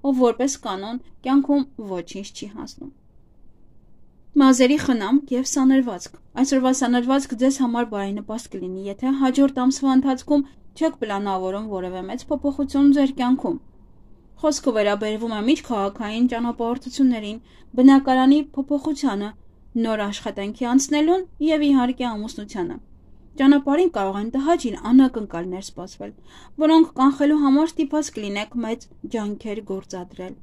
ով որպես կանոն կյանքում ոչինչ չի հասնում։ Մազերի խնամք և սանրվածք։ Այսօրվա սանրվածք ձեզ համար բարենպաստ կլինի, եթե հաջորդ ամսվա ընթացքում չեք պլանավորում որևէ մեծ փոփոխություն ձեր կյանքում։ Խոսքը վերաբերվում է միջքաղաքային ճանապարհորդություններին, բնակարանի փոփոխությանը, նոր աշխատանքի անցնելուն և իհարկե ամուսնությանը։ Ճանապարհին կարող են տհաճ անակնկալներ սպասվել, որոնք կանխելու համար ստիպված կլինեք մեծ ջանքեր գործադրել։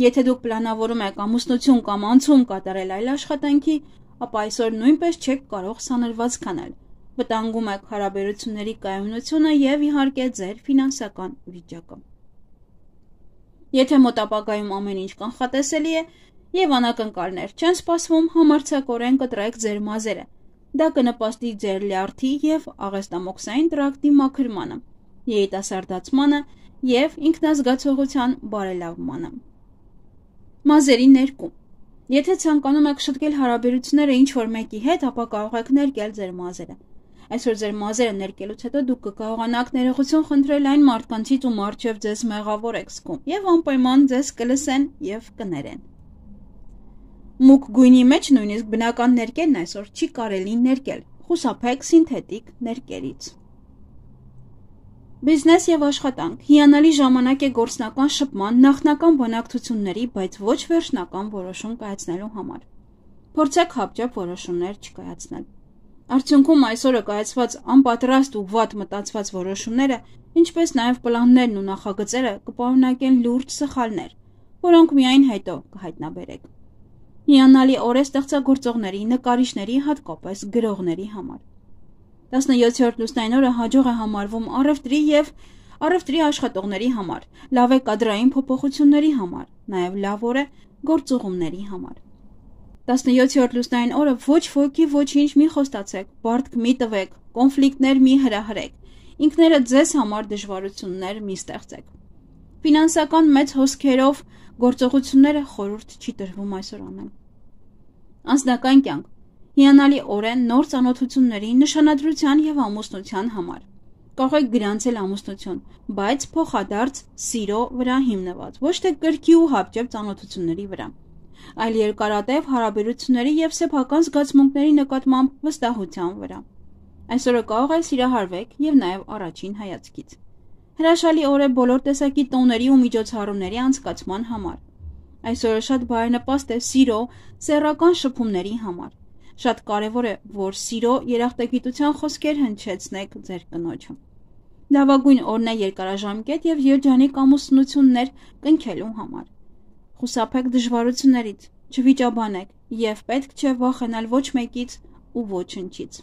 Եթե դուք պլանավորում եք ամուսնություն կամ անցում կատարել այլ աշխատանքի, ապա այսօր նույնպես չեք կարող սանրվածք անել, վտանգում եք հարաբերությունների կայունությունը և իհարկե ձեր ֆինանսական վիճակը։ Եթե մոտ ապագայում ամեն ինչ կանխատեսելի է և անակնկալներ չեն սպասվում, համարձակորեն կտրեք ձեր մազերը։ Դա կնպաստի ձեր լյարդի և աղեստամոքսային տրակտի մաքրմանը, երիտասարդացմանը և ինքնազգացողության բարելավմանը։ Մազերի ներկում։ Եթե ցանկանում եք շտկել հարաբերությունները ինչ-որ մեկի հետ, ապա կարող եք ներկել ձեր մազերը։ Այսօր ձեր մազերը ներկելուց հետո դուք կկարողանաք ներողություն խնդրել այն մարդկանցից, ում առջև ձեզ մեղավոր եք զգում, և անպայման ձեզ կլսեն և կներեն։ Մուգ գույնի մեջ նույնիսկ բնական ներկերն այսօր չի կարելի ներկել, խուսափեք սինթետիկ ներկերից։ Բիզնես և աշխատանք։ Հիանալի ժամանակ է գործնական շփման, նախնական բանակցությունների, բայց ոչ վերջնական որոշում կայացնելու համար։ Փորձեք հապճեպ որոշումներ չկայացնել։ Արդյունքում այսօրը կայացված անպատրաստ ու վատ մտածված որոշումները, ինչպես նաև պլաններն ու նախագծերը կպարունակեն լուրջ սխալներ, որոնք միայն հետո կհայտնաբերեք։ Հիանալի օր է ստեղծագործողների, նկարիչների, հատկապես գրողների համար։ 17-րդ լուսնային օրը հաջող է համարվում առևտրի և առևտրի աշխատողների համար, լավ է կադրային փոփոխությունների համար, նաև լավ օր է գործուղումների համար։ 17-րդ լուսնային օրը ոչ ոքի ոչինչ մի խոստացեք, բարդք մի տվեք, կոնֆլիկտներ մի հրահրեք, ինքներդ ձեզ համար դժվարություններ մի ստեղծեք։ Ֆինանսական մեծ հոսքերով գործողությունները խորհուրդ չի տրվում այսօր անել։ Անձնական կյանք։ Հիանալի օր է նոր ծանոթությունների, նշանադրության և ամուսնության համար։ Կարող եք գրանցել ամուսնություն, բայց փոխադարձ սիրո վրա հիմնված, ոչ թե կրքի ու հապճեպ ծանոթությունների վրա, այլ երկարատև հարաբերությունների և սեփական զգացմունքների նկատմամբ վստահության վրա։ Այսօրը կարող է սիրահարվեք և նաև առաջին հայացքից։ Հրաշալի օր է բոլոր տեսակի տոների ու միջոցառումների անցկացման համար։ Այսօրը շատ բարենպաստ է սիրո, սեռական շփումների համար։ Շատ կարևոր է, որ սիրո երախտագիտության խոսքեր հնչեցնեք ձեր կնոջը։ Լավագույն օրն է երկարաժամկետ և երջանիկ ամուսնություններ կնքելու համար։ Խուսափեք դժվարություններից, չվիճաբանեք և պետք չէ վախենալ ոչ մեկից ու ոչնչից։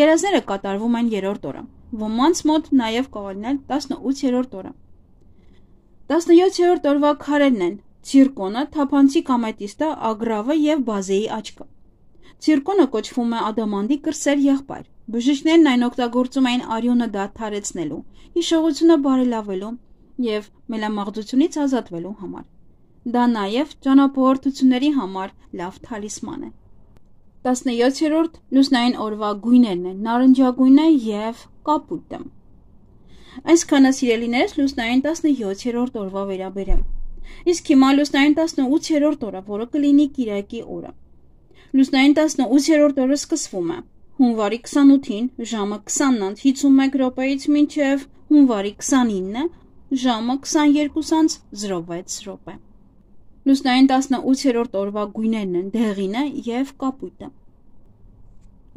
Երազները կատարվում են երրորդ օրը, ոմանց մոտ նաև կարող լինել 18-րդ օրը։ 17-րդ օրվա քարերն են ցիրկոնը, թափանցիկ ամետիստը, ագրավը և բազեի աչքը։ Ցիրկոնը կոչվում է ադամանդի կրսեր եղբայր։ Բժիշկներն այն օգտագործում էին արյունը դադարեցնելու, հիշողությունը բարելավելու և մելամաղձությունից ազատվելու համար։ Դա նաև ճանապարհորդությունների համար լավ թալիսման է։ 17-րդ լուսնային օրվա գույներն են նարնջագույնը և կապույտը։ Այսքանը սիրելիներս լուսնային 17-րդ օրվա վերաբերյալ։ Իսկ հիմա լուսնային 18-րդ օրը, որը կլինի կիրակի օրը։ Լուսնային 18-րդ օրը սկսվում է հունվարի 28-ին ժամը 20:51 մինչև հունվարի 29-ը ժամը 22:06։ Լուսնային 18-րդ օրվա գույներն են դեղինը և կապույտը։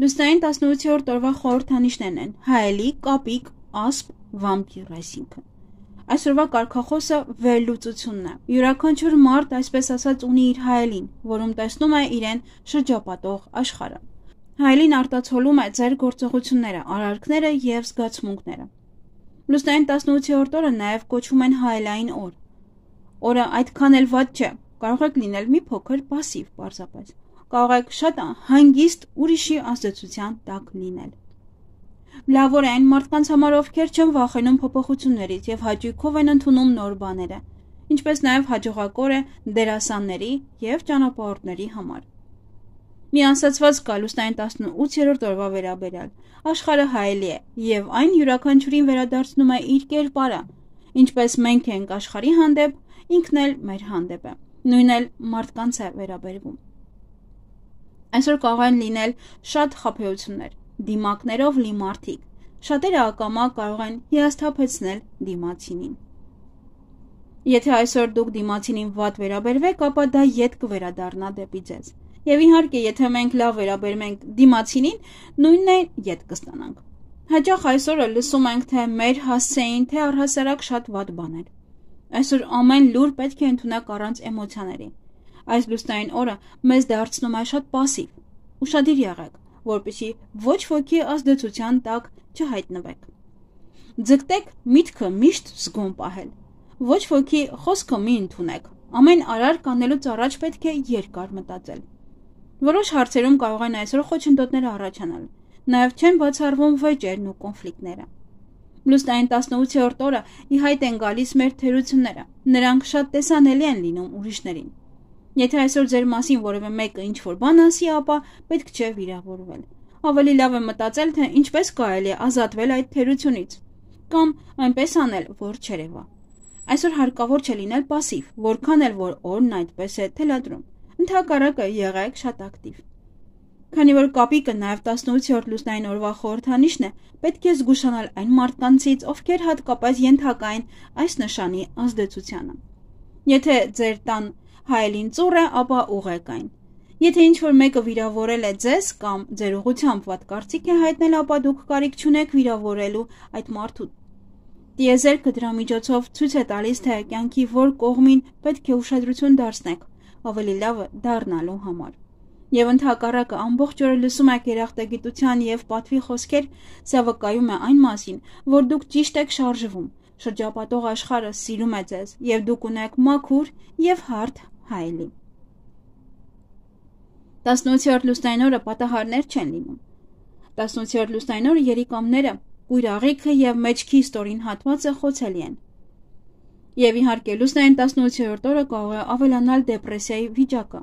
Լուսնային 18-րդ օրվա խորհրդանիշներն են հայելի, կապիկ, ասպ, վամպիր, այսինքն։ Այսօրվա կարգախոսը վերլուծությունն է։ Յուրաքանչյուր մարդ, այսպես ասած, ունի իր հայելին, որում տեսնում է իրեն շրջապատող աշխարհը։ Հայելին արտացոլում է ձեր գործողությունները, արարքները և զգացմունքները։ Լուսնային 18-րդ օրը նաև կոչվում են հայելային օր։ Օրը այդքան էլ վատ չէ, կարող եք լինել մի փոքր պասիվ պարզապես։ Կարող եք շատ հանգիստ ուրիշի ազդեցության տակ լինել։ Լավ օր է այն մարդկանց համար, ովքեր չեն վախենում փոփոխություններից և հաճույքով են ընդունում նոր բաները, ինչպես նաև հաջողակ օր է դերասանների և ճանապարհորդների համար։ Մի ասացված կա լուսնային 18-րդ օրվա վերաբերյալ։ Աշխարհը հայելի է և այն յուրաքանչյուրին վերադարձնում է իր կերպարը, ինչպես մենք ենք աշխարհի հանդեպ, ինքն էլ մեր հանդեպ է, նույնն էլ մարդկանց է վերաբերվում։ Այսօր կարող են լինել շատ խաբեություններ, դիմակներով լի մարդիկ, շատերը ակամա կարող են հիասթափեցնել դիմացինին։ Եթե այսօր դուք դիմացինին վատ վերաբերվեք, ապա դա ետ կվերադառնա դեպի ձեզ։ Եվ իհարկե, եթե մենք լավ վերաբերվենք դիմացինին, նույնն է ետ կստանանք։ Հաճախ այսօրը լսում ենք, թե մեր հասցեին, թե առհասարակ շատ վատ բաներ։ Այսօր ամեն լուր պետք է ընդունեք առանց էմոցիաների։ Այս լուսնային օրը մեզ դարձնում է շատ պասիվ։ Ուշադիր եղեք, որպեսզի ոչ ոքի ազդեցության տակ չհայտնվեք։ Ձգտեք միտքը միշտ զգոն պահել։ Ոչ ոքի խոսքը մի ընդունեք։ Ամեն արարք անելուց առաջ պետք է երկար մտածել։ Որոշ հարցերում կարող են այսօր խոչընդոտներ առաջանալ։ Նաև չեն բացառվում վեճերն ու կոնֆլիկտները։ Լուսնային 18-րդ օրը ի հայտ են գալիս մեր թերությունները։ Նրանք շատ տեսանելի են լինում ուրիշներին։ Եթե այսօր ձեր մասին որևէ մեկը ինչ-որ բան ասի, ապա պետք չէ վիրավորվել։ Ավելի լավ է մտածել, թե ինչպես կարելի է ազատվել այդ թերությունից, կամ այնպես անել, որ չերևա։ Այսօր հարկավոր չէ լինել պասիվ, որքան էլ որ օրն այդպես է թելադրում։ Ընդհակառակը եղեք շատ ակտիվ։ Քանի որ կապիկը նաև 18-րդ լուսնային օրվա խորհրդանիշն է, պետք է զգուշանալ այն մարդկանցից, ովքեր հատկապես ենթակա են այս նշանի ազդեցությանը։ Եթե ձեր տան հայելին ծուռ է, ապա ուղեք այն։ Եթե ինչ-որ մեկը վիրավորել է ձեզ կամ ձեր ուղղությամբ վատ կարծիք է հայտնել, ապա դուք կարիք չունեք վիրավորելու այդ մարդուն։ Տիեզերքը դրա միջոցով ցույց է տալիս, թե կյանքի որ կողմին պետք է ուշադրություն դարձնեք, ավելի լավը դառնալու համար։ Եվ ընդհակառակը ամբողջ օրը լսում եք երախտագիտության եւ պատվի խոսքեր, սա վկայում է այն մասին, որ դուք ճիշտ եք շարժվում, շրջապատող աշխարհը սիրում է ձեզ եւ դուք ունեք մաքուր եւ հարթ հայելի։ 18-րդ լուսնային օրը պատահարներ չեն լինում։ 18-րդ լուսնային օրը երիկամները, կույր աղիքը եւ մեջքի ստորին հատվածը խոցելի են։ Եվ իհարկե լուսնային 18-րդ օրը կարող է ավելանալ դեպրեսիայի վիճակը։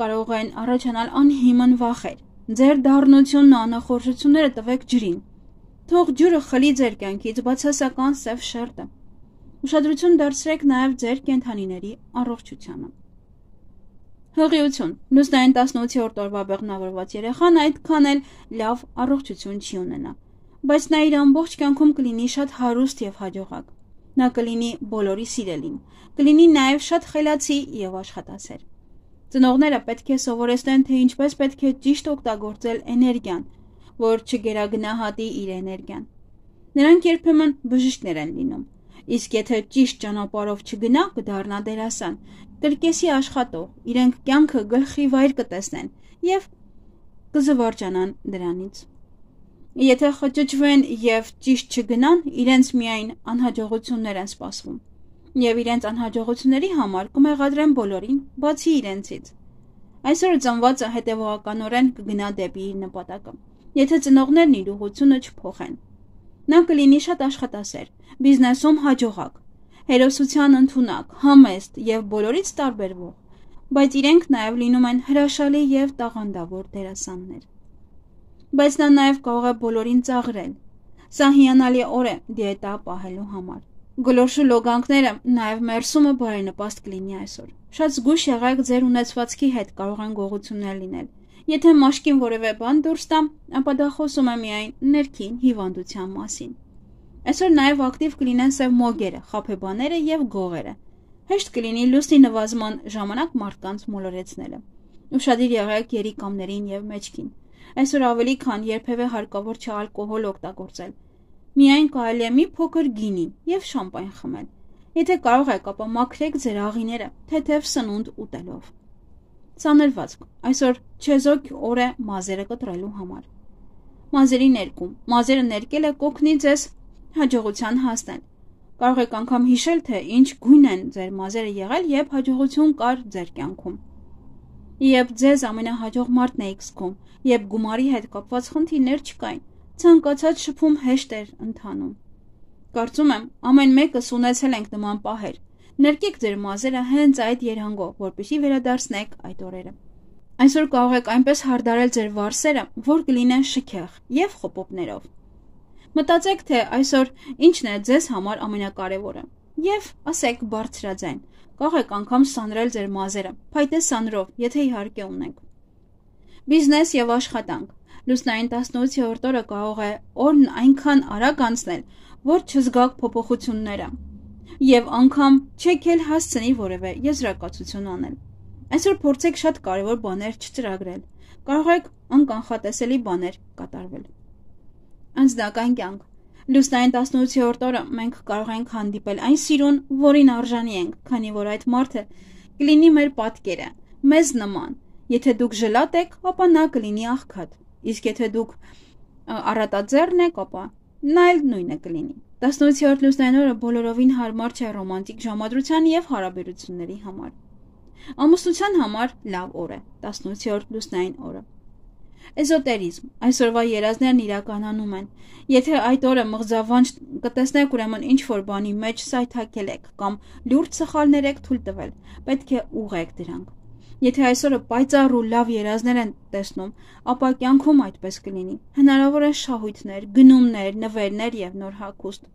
Կարող են առաջանալ անհիմն վախեր։ Ձեր դառնությունն ու անախորժությունները տվեք ջրին։ Թող ջուրը խլի ձեր կյանքից բացասական սև շերտը։ Ուշադրություն դարձրեք նաև ձեր կենդանիների առողջությանը։ Հղիություն։ Լուսնային 18-րդ օրվա բեղմնավորված երեխան այդքան էլ լավ առողջություն չի ունենա, բայց նա իր ամբողջ կյանքում կլինի շատ հարուստ եւ հաջողակ։ Նա կլինի բոլորի սիրելին, կլինի նաև շատ խելացի եւ աշխատասեր։ Ծնողները պետք է սովորեցնեն, թե ինչպես պետք է ճիշտ օգտագործել էներգիան, որ չգերագնահատի իր էներգիան։ Նրանք երբեմն բժիշկներ են լինում, իսկ եթե ճիշտ ճանապարհով չգնա, կդառնա դերասան, կրկեսի աշխատող, իրենք կյանքը գլխի վայր կտեսնեն եւ կզվարճանան դրանից։ Եթե խճճվեն եւ ճիշտ չգնան, իրենց միայն անհաջողություններ են սպասվում։ Եվ իրենց անհաջողությունների համար կմեղադրեն բոլորին, բացի իրենցից։ Այսօր ծնվածը հետևողականորեն կգնա դեպի իր նպատակը, եթե ծնողներն իր ուղղությունը չփոխեն։ Նա կլինի շատ աշխատասեր, բիզնեսում հաջողակ, հերոսության ընդունակ, համեստ եւ բոլորից տարբերվող, բայց իրենք նաեւ լինում են հրաշալի եւ տաղանդավոր դերասաններ։ Բայց նա նաեւ կարող է բոլորին ծաղրել։ Սա հիանալի օր է դիետա պահելու համար։ Գլորշու լոգանքները նաև մերսումը բարենպաստ կլինի այսօր։ Շատ զգույշ եղեք ձեր ունեցվածքի հետ, կարող են գողություններ լինել։ Եթե մաշկին որևէ բան դուրս տա, ապա դա խոսում է միայն ներքին հիվանդության մասին։ Այսօր նաև ակտիվ կլինեն սև մոգերը, խաբեբաները եւ գողերը։ Հեշտ կլինի լուսնի նվազման ժամանակ մարդկանց մոլորեցնելը։ Ուշադիր եղեք երիկամներին եւ մեջքին։ Այսօր ավելի քան երբևէ հարկավոր չէ ալկոհոլ օգտագործել։ Միայն կարելի է մի փոքր գինի եւ շամպայն խմել։ Եթե կարող եք, ապա մաքրեք ձեր աղիները թեթև սնունդ ուտելով։ Ցաներվածք։ Այսօր չեզոք օր է մազերը կտրելու համար։ Մազերի ներկում։ Մազերը ներկելը կօգնի ձեզ հաջողության հասնել։ Կարող եք անգամ հիշել, թե ինչ գույն են ձեր մազերը եղել, երբ հաջողություն կար ձեր կյանքում։ Երբ ձեզ ամենահաջող մարդն եք զգում, երբ գումարի հետ կապված խնդիրներ չկային, ցանկացած շփում հեշտ էր ընթանում։ Կարծում եմ, ամեն մեկս ունեցել ենք նման պահեր։ Ներկեք ձեր մազերը հենց այդ երանգով, որպեսզի վերադարձնեք այդ օրերը։ Այսօր կարող եք այնպես հարդարել ձեր վարսերը, որ կլինեն շքեղ եւ խոպոպներով։ Մտածեք, թե այսօր ինչն է ձեզ համար ամենակարևորը։ Եվ ասեք բարձրաձայն, կարող եք անգամ սանրել ձեր մազերը, փայտե սանրով, եթե իհարկե ունենք։ Բիզնես եւ աշխատանք։ Լուսնային 18-րդ օրը կարող է օրն այնքան արագ անցնել, որ չզգաք փոփոխությունները եւ անգամ չեք էլ հասցնի որևէ եզրակացություն անել։ Այսօր փորձեք շատ կարևոր բաներ չծրագրել։ Կարող եք անկանխատեսելի բաներ կատարվել։ Անձնական կյանք։ Լուսնային 18-րդ օրը մենք կարող ենք հանդիպել այն սիրուն, որին արժանի ենք, քանի որ այդ մարդը կլինի մեր պատկերը, մեզ նման։ Եթե դուք ժլատ եք, ապա նա կլինի աղքատ, իսկ եթե դուք առատաձեռն եք, ապա նա էլ նույնը կլինի։ 18-րդ լուսնային օրը բոլորովին հարմար չէ ռոմանտիկ ժամադրության եւ հարաբերությունների համար։ Ամուսնության համար լավ օր է 18-րդ լուսնային օրը։ Էզոտերիզմ։ Այսօրվա երազներն իրականանում են։ Եթե այդ օրը մղձավանջ կտեսնեք, ուրեմն ինչ որ բանի մեջ սայթաքել եք կամ լուրջ սխալներ եք թույլ տվել, պետք է ուղղեք դրանք։ Եթե այսօրը պայծառ ու լավ երազներ են տեսնում, ապա կյանքում այդպես կլինի։ Հնարավոր է շահույթներ, գնումներ, նվերներ եւ նոր հագուստ։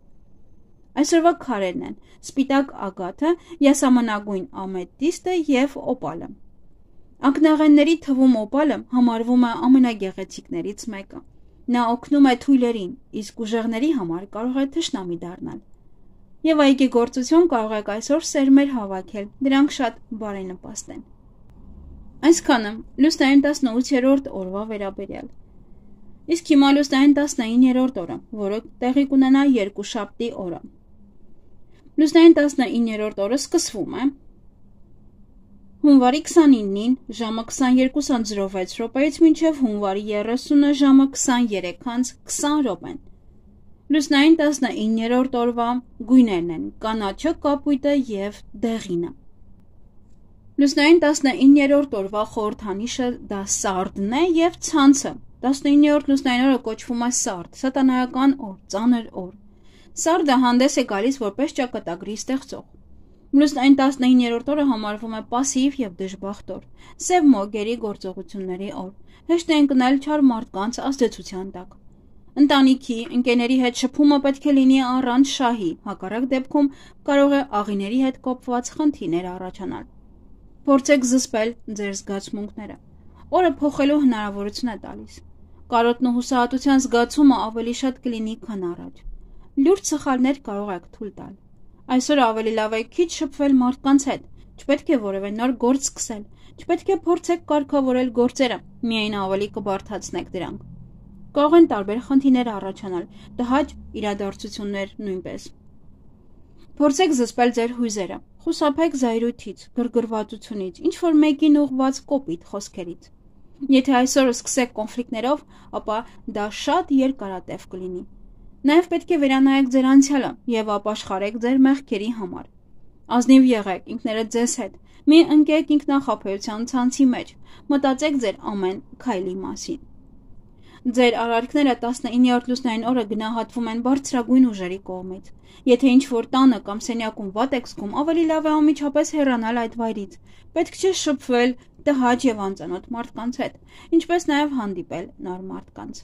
Այսօրվա քարերն են սպիտակ ագաթը, յասամանագույն ամետիստը եւ օպալը։ Ակնաղենների թվում օպալը համարվում է ամենագեղեցիկներից մեկը։ Նա օգնում է թույլերին, իսկ ուժեղների համար կարող է թշնամի դառնալ։ Եվ այգեգործություն կարող եք այսօր սերմեր հավաքել, դրանք շատ բարենպաստ են։ Այսքանը լուսնային 18-րդ օրվա վերաբերյալ։ Իսկ հիմա լուսնային 19-րդ օրը, որը տեղի կունենա երկուշաբթի օրը։ Լուսնային 19-րդ օրը սկսվում է հունվարի 29-ին ժամը 22:06 մինչև հունվարի 30-ը ժամը 23:20 րոպեն։ Լուսնային 19-րդ օրվա գույներն են կանաչը, կապույտը եւ դեղինը։ Լուսնային 19-րդ օրվա խորհրդանիշը դա սարդն է եւ ցանցը։ 19-րդ լուսնային օրը կոչվում է սարդ, սատանայական օր, ծանր օր։ Սարդը հանդես է գալիս որպես ճակատագրի ստեղծող։ Լուսնային 19-րդ օրը համարվում է պասիվ եւ դժբախտ օր, սև մոգերի գործողությունների օր։ Հեշտ է ընկնել չար մարդկանց ազդեցության տակ։ Ընտանիքի, ընկերների հետ շփումը պետք է լինի առանց շահի, հակառակ դեպքում կարող է աղիների հետ կապված խնդիրներ առաջանալ։ Փորձեք զսպել ձեր զգացմունքները։ Օրը փոխելու հնարավորություն է տալիս։ Կարոտն ու հուսահատության զգացումը ավելի շատ կլինի, քան առաջ։ Լուրջ սխալներ կարող եք թույլ տալ։ Այսօր ավելի լավ է քիչ շփվել մարդկանց հետ, չպետք է որևէ նոր գործ սկսել, չպետք է փորձեք կարգավորել գործերը, միայն ավելի կբարդացնեք դրանք։ Կարող են տարբեր խնդիրներ առաջանալ, տհաճ իրադարձություններ նույնպես։ Փորձեք զսպել ձեր հույզերը, խուսափեք զայրույթից, գրգռվածությունից, ինչ-որ մեկին ուղղված կոպիտ խոսքերից։ Եթե այսօր սկսեք կոնֆլիկտներով, ապա դա շատ երկարատև կլինի։ Նաև պետք է վերանայեք ձեր անցյալը եւ ապաշխարեք ձեր մեղքերի համար։ Ազնիվ եղեք ինքներդ ձեզ հետ, մի ընկեք ինքնախաբեության ցանցի մեջ, մտածեք ձեր ամեն քայլի մասին։ Ձեր արարքները 19-րդ լուսնային օրը գնահատվում են բարձրագույն ուժերի կողմից։ Եթե ինչ-որ տանը կամ սենյակում վատ եք զգում, ավելի լավ է անմիջապես հեռանալ այդ վայրից։ Պետք չէ շփվել տհաճ եւ անծանոթ մարդկանց հետ, ինչպես նաեւ հանդիպել նոր մարդկանց։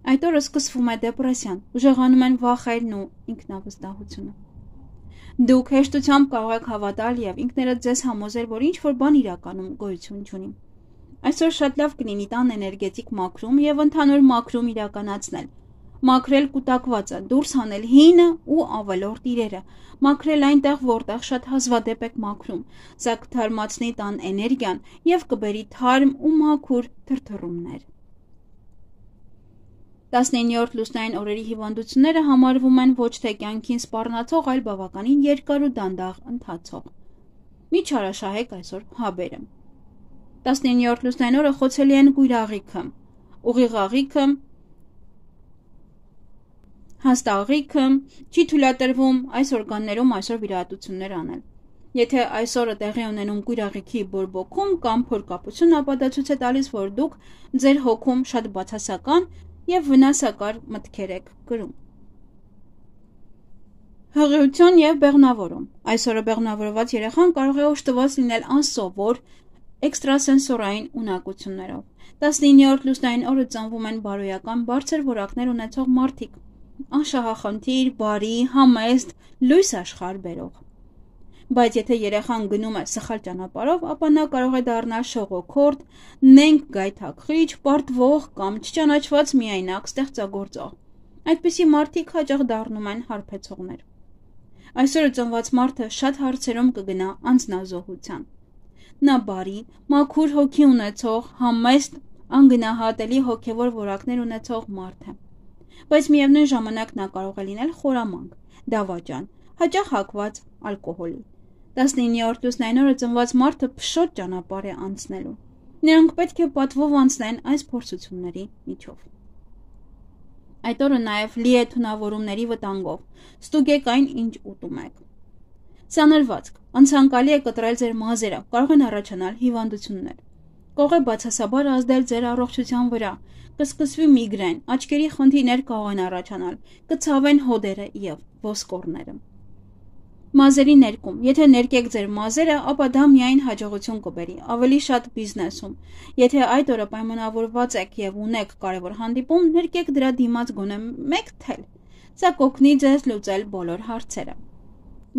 Այդ օրը սկսվում է դեպրեսիան, ուժեղանում են վախերն ու ինքնավստահությունը։ Դուք հեշտությամբ կարող եք հավատալ եւ ինքներդ ձեզ համոզել, որ ինչ-որ բան իրականում գոյություն չունի։ Այսօր շատ լավ կլինի տան էներգետիկ մաքրում եւ ընդհանուր մաքրում իրականացնել։ Մաքրել կուտակվածը, դուրս հանել հինը ու ավելորդ իրերը, մաքրել այնտեղ, որտեղ շատ հազվադեպ եք մաքրում, սա կթարմացնի տան էներգիան եւ կբերի թարմ ու մաքուր թրթռումներ։ 19-րդ լուսնային օրերի հիվանդությունները համարվում են ոչ թե կյանքին սպառնացող, այլ բավականին երկար ու դանդաղ ընթացող։ Մի չարաշահեք այսօր հաբերը։ 19-րդ լուսնային օրը խոցելի են կույրաղիքը, ուղիղաղիքը, հաստաղիքը, չի թույլատրվում այս օրգաններում այսօր վիրահատություններ անել։ Եթե այսօրը տեղի ունենում կույրաղիքի բորբոքում կամ փորկապություն, ապա դա ցույց է տալիս, որ դուք ձեր հոգում շատ բացասական եւ վնասակար մտքեր եք կրում։ Հղիություն եւ բեղմնավորում։ Այսօրը բեղմնավորված երեխան կարող է օժտված լինել անսովոր էքստրասենսորային ունակություններով։ 19-րդ լուսնային օրը ծնվում են բարոյական բարձր որակներ ունեցող մարդիկ։ անշահախնդիր, բարի, համեստ, լույս աշխարհ բերող։ Բայց եթե երեխան գնում է սխալ ճանապարհով, ապա նա կարող է դառնալ շողոքորդ, նենգ գայթակղիչ, պարտվող կամ չճանաչված միայնակ ստեղծագործող։ Այդպիսի մարդիկ հաճախ դառնում են հարբեցողներ։ Այսօր ծնված մարդը շատ հարցերում կգնա անձնազոհության։ Նա բարի, մաքուր հոգի ունեցող, համեստ, անգնահատելի հոգևոր որակներ ունեցող մարդ է։ Բայց միևնույն ժամանակ նա կարող է լինել խորամանկ, դավաճան, հաճախ հակված ալկոհոլի։ 19-րդ լուսնային օրը ծնված մարդը փշոտ ճանապարհ է անցնելու։ Նրանք պետք է պատվով անցնեն այս փորձությունների միջով։ Այդ օրը նաև լի է թունավորումների վտանգով։ Ստուգեք այն, ինչ ուտում եք։ Սանրվածք, անցանկալի է կտրել ձեր մազերը, կարող են առաջանալ հիվանդություններ։ Կարող է բացասաբար ազդել ձեր առողջության վրա, կսկսվի միգրեն, աչքերի խնդիրներ կարող են առաջանալ, կցավեն հոդերը եւ ոսկորները։ Մազերի ներկում, եթե ներկեք ձեր մազերը, ապա դա միայն հաջողություն կբերի, ավելի շատ բիզնեսում։ Եթե այդ օրը պայմանավորված եք եւ ունեք կարևոր հանդիպում, ներկեք դրա դիմաց գոնե մեկ թել։ Սա կօգնի ձեզ լուծել բոլոր հարցերը։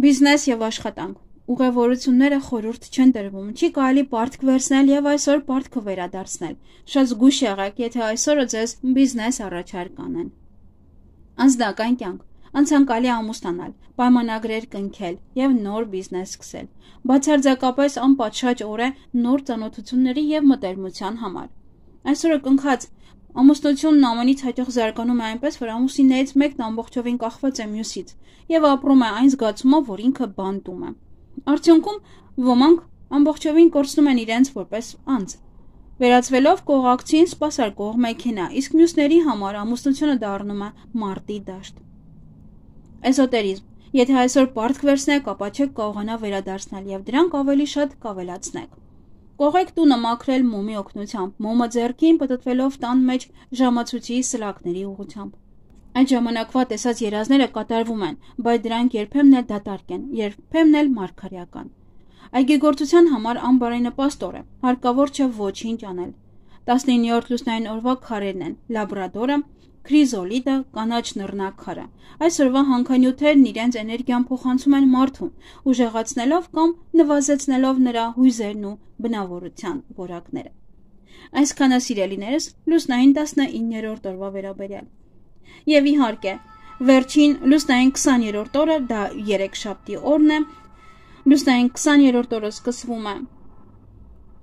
Բիզնես եւ աշխատանք։ Ուղևորությունները խորհուրդ չեն տրվում, չի կարելի պարտք վերցնել եւ այսօր պարտքը վերադարձնել։ Շատ զգույշ եղեք, եթե այսօրը ձեզ բիզնես առաջարկ անեն։ Անձնական կյանք։ Անցանկալի ամուսնանալ, պայմանագրեր կնքել եւ նոր բիզնես սկսել։ Բացարձակապես անպատշաճ օր է նոր ծանոթությունների եւ մտերմության համար։ Այսօրը կնքած ամուսնությունն ամենից հաճախ զարգանում է այնպես, որ ամուսիններից մեկն ամբողջովին կախված է մյուսից եւ ապրում է այն զգացումով, որ ինքը բանտում է։ Արդյունքում ոմանք ամբողջովին կորցնում են իրենց որպես անձ։ Վերածվելով կողակցին սպասարկող մեքենա, իսկ մյուսների համար ամուսնությունը դառնում է մարտի դաշտ։ Էզոտերիզմ։ Եթե այսօր պարտք վերցնեք, ապա չեք կարողանա վերադարձնել եւ դրանք ավելի շատ կավելացնեք։ Կողեք տունը մաքրել մոմի օգնությամբ, մոմը ձեռքին պտտվելով տան մեջ ժամացույցի սլակների ուղղությամբ։ Այդ ժամանակվա տեսած երազները կատարվում են, բայց դրանք երբեմն էլ դատարկ են, երբեմն էլ մարգարեական։ Այգեգործության համար անբարենպաստ օր է, հարկավոր չէ ոչինչ անել։ 19-րդ լուսնային օրվա քարերն են՝ լաբրադորը, քրիզոլիտը, կանաչ նռնակարը։ Այսօրվա հանքանյութերն իրենց էներգիան փոխանցում են մարդուն, ուժեղացնելով կամ նվազեցնելով նրա հույզերն ու բնավորության որակները։ Այսքանը սիրելիներս լուսնային 19-րդ օրվա վերաբերյալ։ Եվ իհարկե, վերջին լուսնային 20-րդ օրը, դա երեքշաբթի օրն է, լուսնային 20-րդ օրը սկսվում է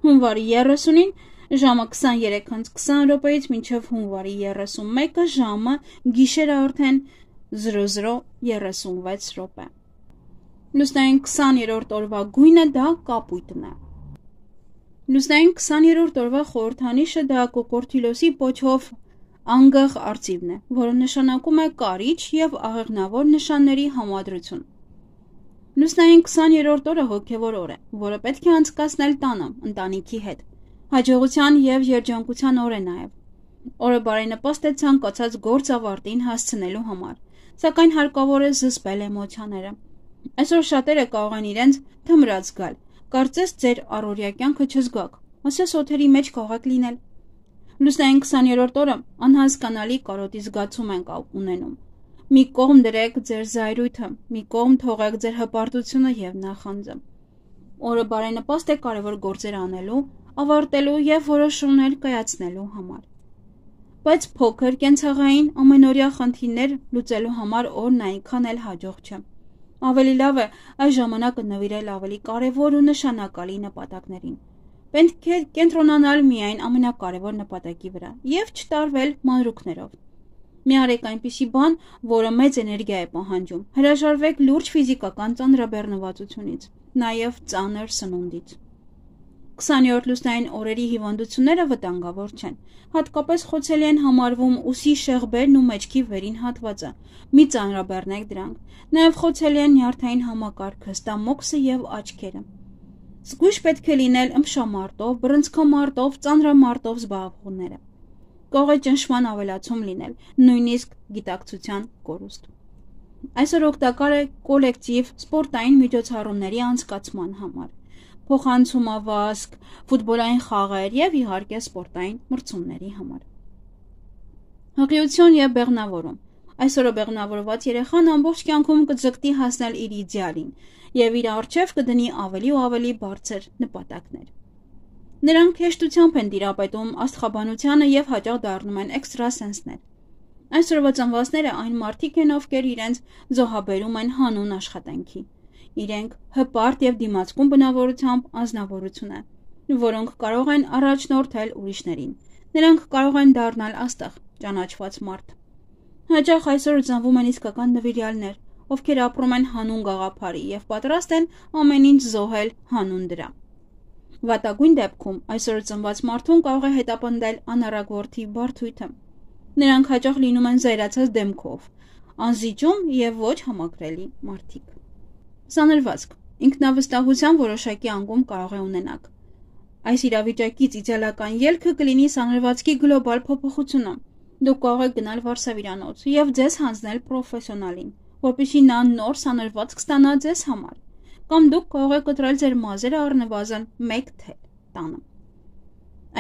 հունվարի 30-ին, ժամը 23:20 մինչև հունվարի 31-ը ժամը գիշերը արդեն 00:36։ Լուսնային 20-րդ օրվա գույնը դա կապույտն է։ Լուսնային 20-րդ օրվա խորհրդանիշը դա կոկորտիլոսի պոչով անգղ արծիվն է, որը նշանակում է կարիճ եւ աղեղնավոր նշանների համադրություն։ Լուսնային 20-րդ օրը հոգևոր օր է, որը պետք է անցկացնել տանը, ընտանիքի հետ։ Հաջողության եւ երջանկության օր է նաեւ։ Օրը բարենպաստ է ցանկացած գործ ավարտին հասցնելու համար, սակայն հարկավոր է զսպել էմոցիաները։ Այսօր շատերը կարող են իրենց թմրած զգալ, կարծես ձեր առօրյա կյանքը չզգաք, ասես օթերի մեջ կարող եք լինել։ Լուսնային 20-րդ օրը անհասկանալի կարոտի զգացում ենք ունենում։ Մի կողմ դրեք ձեր զայրույթը, մի կողմ թողեք ձեր հպարտությունը եւ նախանձը։ Օրը բարենպաստ է կարևոր գործեր անելու, ավարտելու եւ որոշումներ կայացնելու համար։ Բայց փոքր կենցաղային ամենօրյա խնդիրներ լուծելու համար օրն այնքան էլ հաջող չէ։ Ավելի լավ է այս ժամանակը նվիրել ավելի կարևոր ու նշանակալի նպատակներին։ Պետք է կենտրոնանալ միայն ամենակարևոր նպատակի վրա եւ չտարվել մանրուքներով։ Մի արեք այնպիսի բան, որը մեծ էներգիա է պահանջում։ Հրաժարվեք լուրջ ֆիզիկական ծանրաբեռնվածությունից, նաեւ ծանր սնունդից։ 20-րդ լուսնային օրերի հիվանդությունները վտանգավոր չեն։ Հատկապես խոցելի են համարվում ուսի շեղբերն ու մեջքի վերին հատվածը։ Մի ծանրաբեռնեք դրանք։ Նաեւ խոցելի են նյարդային համակարգը, ստամոքսը եւ աչքերը։ Զգույշ պետք է լինել ըմբշամարտով, բռնցքամարտով, ծանրամարտով զբաղվողները։ Կարող է ճնշման ավելացում լինել, նույնիսկ գիտակցության կորուստ։ Այսօր օգտակար է կոլեկտիվ սպորտային միջոցառումների անցկացման համար, փոխանցումավազք, ֆուտբոլային խաղեր եւ իհարկե սպորտային մրցումների համար։ Հղիություն եւ բեղնավորում։ Այսօրը բեղմնավորված երեխան ամբողջ կյանքում կձգտի հասնել իր իդեալին եւ իր առջև կդնի ավելի ու ավելի բարձր նպատակներ։ Նրանք հեշտությամբ են տիրապետում աստղաբանությանը եւ հաճախ դառնում են էքստրասենսներ։ Այսօրվա ծնվածները այն մարդիկ են, ովքեր իրենց զոհաբերում են հանուն աշխատանքի։ Իրենք հպարտ եւ դիմացկուն բնավորությամբ անձնավորություն են, որոնք կարող են առաջնորդել ուրիշներին։ Նրանք կարող են դառնալ աստղ, ճանաչված մարդ։ Հաճախ այսօր ծնվում են իսկական նվիրյալներ, ովքեր ապրում են հանուն գաղափարի եւ պատրաստ են ամեն ինչ զոհել հանուն դրա։ Վատագույն դեպքում այսօր ծնված մարդուն կարող է հետապնդել անառակորդի բարդույթը։ Նրանք հաճախ լինում են զայրացած դեմքով, անզիջում եւ ոչ համակրելի մարդիկ։ Սանրվածք ինքնավստահության որոշակի անկում կարող է ունենալ։ Այս իրավիճակից իդեալական ելքը կլինի սանրվածքի գլոբալ փոփոխությունը։ Դուք կարող եք գնալ վարսավիրանոց եւ ձեզ հանձնել պրոֆեսիոնալին, որպեսզի նա նոր սանրվածք ստանա ձեզ համար, կամ դուք կարող եք կտրել ձեր մազերը առնվազն 1 թել տանը։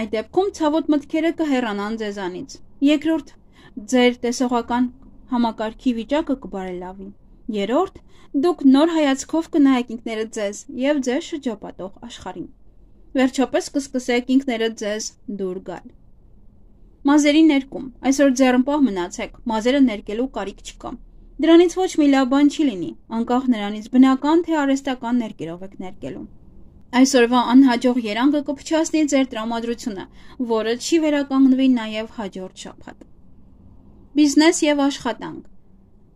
Այդ դեպքում ցավոտ մտքերը կհեռանան ձեզանից։ Երկրորդ, ձեր տեսողական համակարգի վիճակը կբարելավի։ Երրորդ, դուք նոր հայացքով կնայեք ինքներդ ձեզ եւ ձեզ շրջապատող աշխարհին։ Վերջապես կսկսեք ինքներդ ձեզ դուր գալ։ Մազերի ներկում։ Այսօր ձեռնպահ մնացեք, մազերը ներկելու կարիք չկա։ Դրանից ոչ մի լավ բան չի լինի, անկախ նրանից բնական թե արհեստական ներկերով եք ներկելու։ Այսօրվա անհաջող երանգը կփչացնի ձեր տրամադրությունը, որը չի վերականգնվի նաև հաջորդ շաբաթ։ Բիզնես եւ աշխատանք։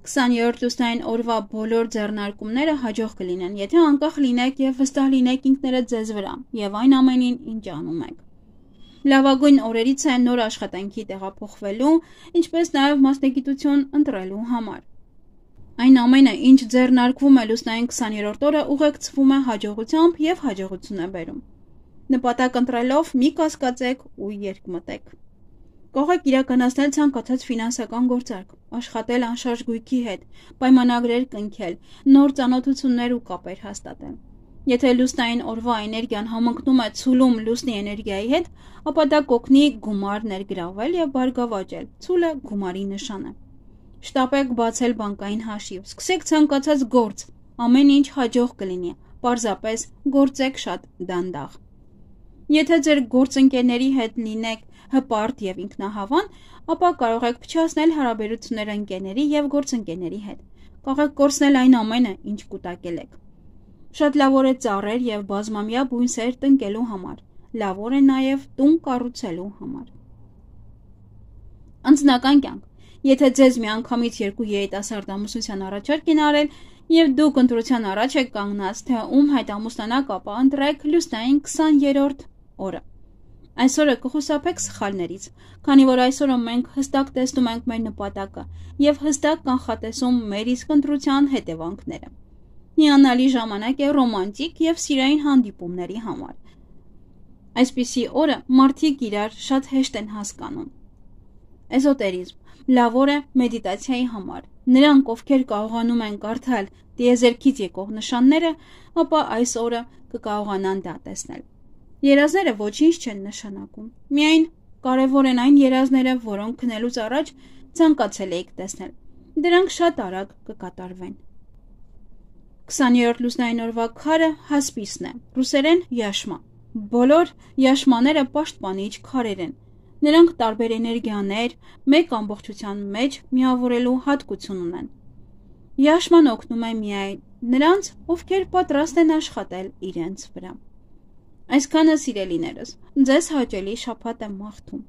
20-րդ լուսնային օրվա բոլոր ձեռնարկումները հաջող կլինեն, եթե անկախ լինեք եւ վստահ լինեք ինքներդ ձեզ վրա եւ այն ամենին, ինչ անում եք։ Լավագույն օրերից է նոր աշխատանքի տեղափոխվելու, ինչպես նաև մասնագիտություն ընտրելու համար։ Այն ամենը, ինչ ձեռնարկվում է լուսնային 20-րդ օրը, ուղեկցվում է հաջողությամբ եւ հաջողություն է բերում։ Նպատակ ընտրելով մի կասկածեք ու երկմտեք։ Կարող եք իրականացնել ցանկացած ֆինանսական գործարք, աշխատել անշարժ գույքի հետ, պայմանագրեր կնքել, նոր ծանոթություններ ու կապեր հաստատել։ Եթե լուսնային օրվա էներգիան համընկնում է ցուլում լուսնի էներգիայի հետ, ապա դա կօգնի գումար ներգրավել եւ բարգավաճել։ Ցուլը գումարի նշան է։ Շտապեք բացել բանկային հաշիվ, սկսեք ցանկացած գործ, ամեն ինչ հաջող կլինի, պարզապես գործեք շատ դանդաղ։ Եթե ձեր գործընկերների հետ լինեք հպարտ եւ ինքնահավան, ապա կարող եք փչացնել հարաբերությունները ընկերների եւ գործընկերների հետ։ Կարող եք կորցնել այն ամենը, ինչ կուտակել եք։ Շատ լավ օր է ծառեր եւ բազմամյա բույսեր տնկելու համար։ Լավ օր է նաեւ տուն կառուցելու համար։ Անձնական կյանք։ Եթե ձեզ միանգամից 2 երիտասարդ ամուսնության առաջարկ են արել եւ դուք ընտրության առաջ եք կանգնած, թե ում հետ ամուսնանաք, ապա ընտրեք լուսնային 20-րդ օրը։ Այսօրը կխուսափեք սխալներից, քանի որ այսօրը մենք հստակ տեսնում ենք մեր նպատակը եւ հստակ կանխատեսում մեր իսկ ընտրության հետևանքները։ Հիանալի ժամանակ է ռոմանտիկ եւ սիրային հանդիպումների համար։ Այսպիսի օրը մարդիկ իրար շատ հեշտ են հասկանում։ Էզոտերիզմ լավ օր է մեդիտացիայի համար։ Նրանք, ովքեր կարողանում են կարդալ տիեզերքից եկող նշանները, ապա այս օրը կկարողանան դա տեսնել։ Երազները ոչինչ չեն նշանակում։ Միայն կարևոր են այն երազները, որոնք քնելուց առաջ ցանկացել եք տեսնել։ Դրանք շատ արագ կկատարվեն։ 20-րդ լուսնային օրվա քարը հասպիսն է, ռուսերեն յաշմա։ Բոլոր յաշմաները պաշտպանիչ քարեր են։ Նրանք տարբեր էներգիաներ մեկ ամբողջության մեջ միավորելու հատկություն ունեն։ Յաշման օգնում է միայն նրանց, ովքեր պատրաստ են աշխատել իրենց վրա։ Այսքանը սիրելիներս, ձեզ հաճելի շաբաթ եմ մաղթում։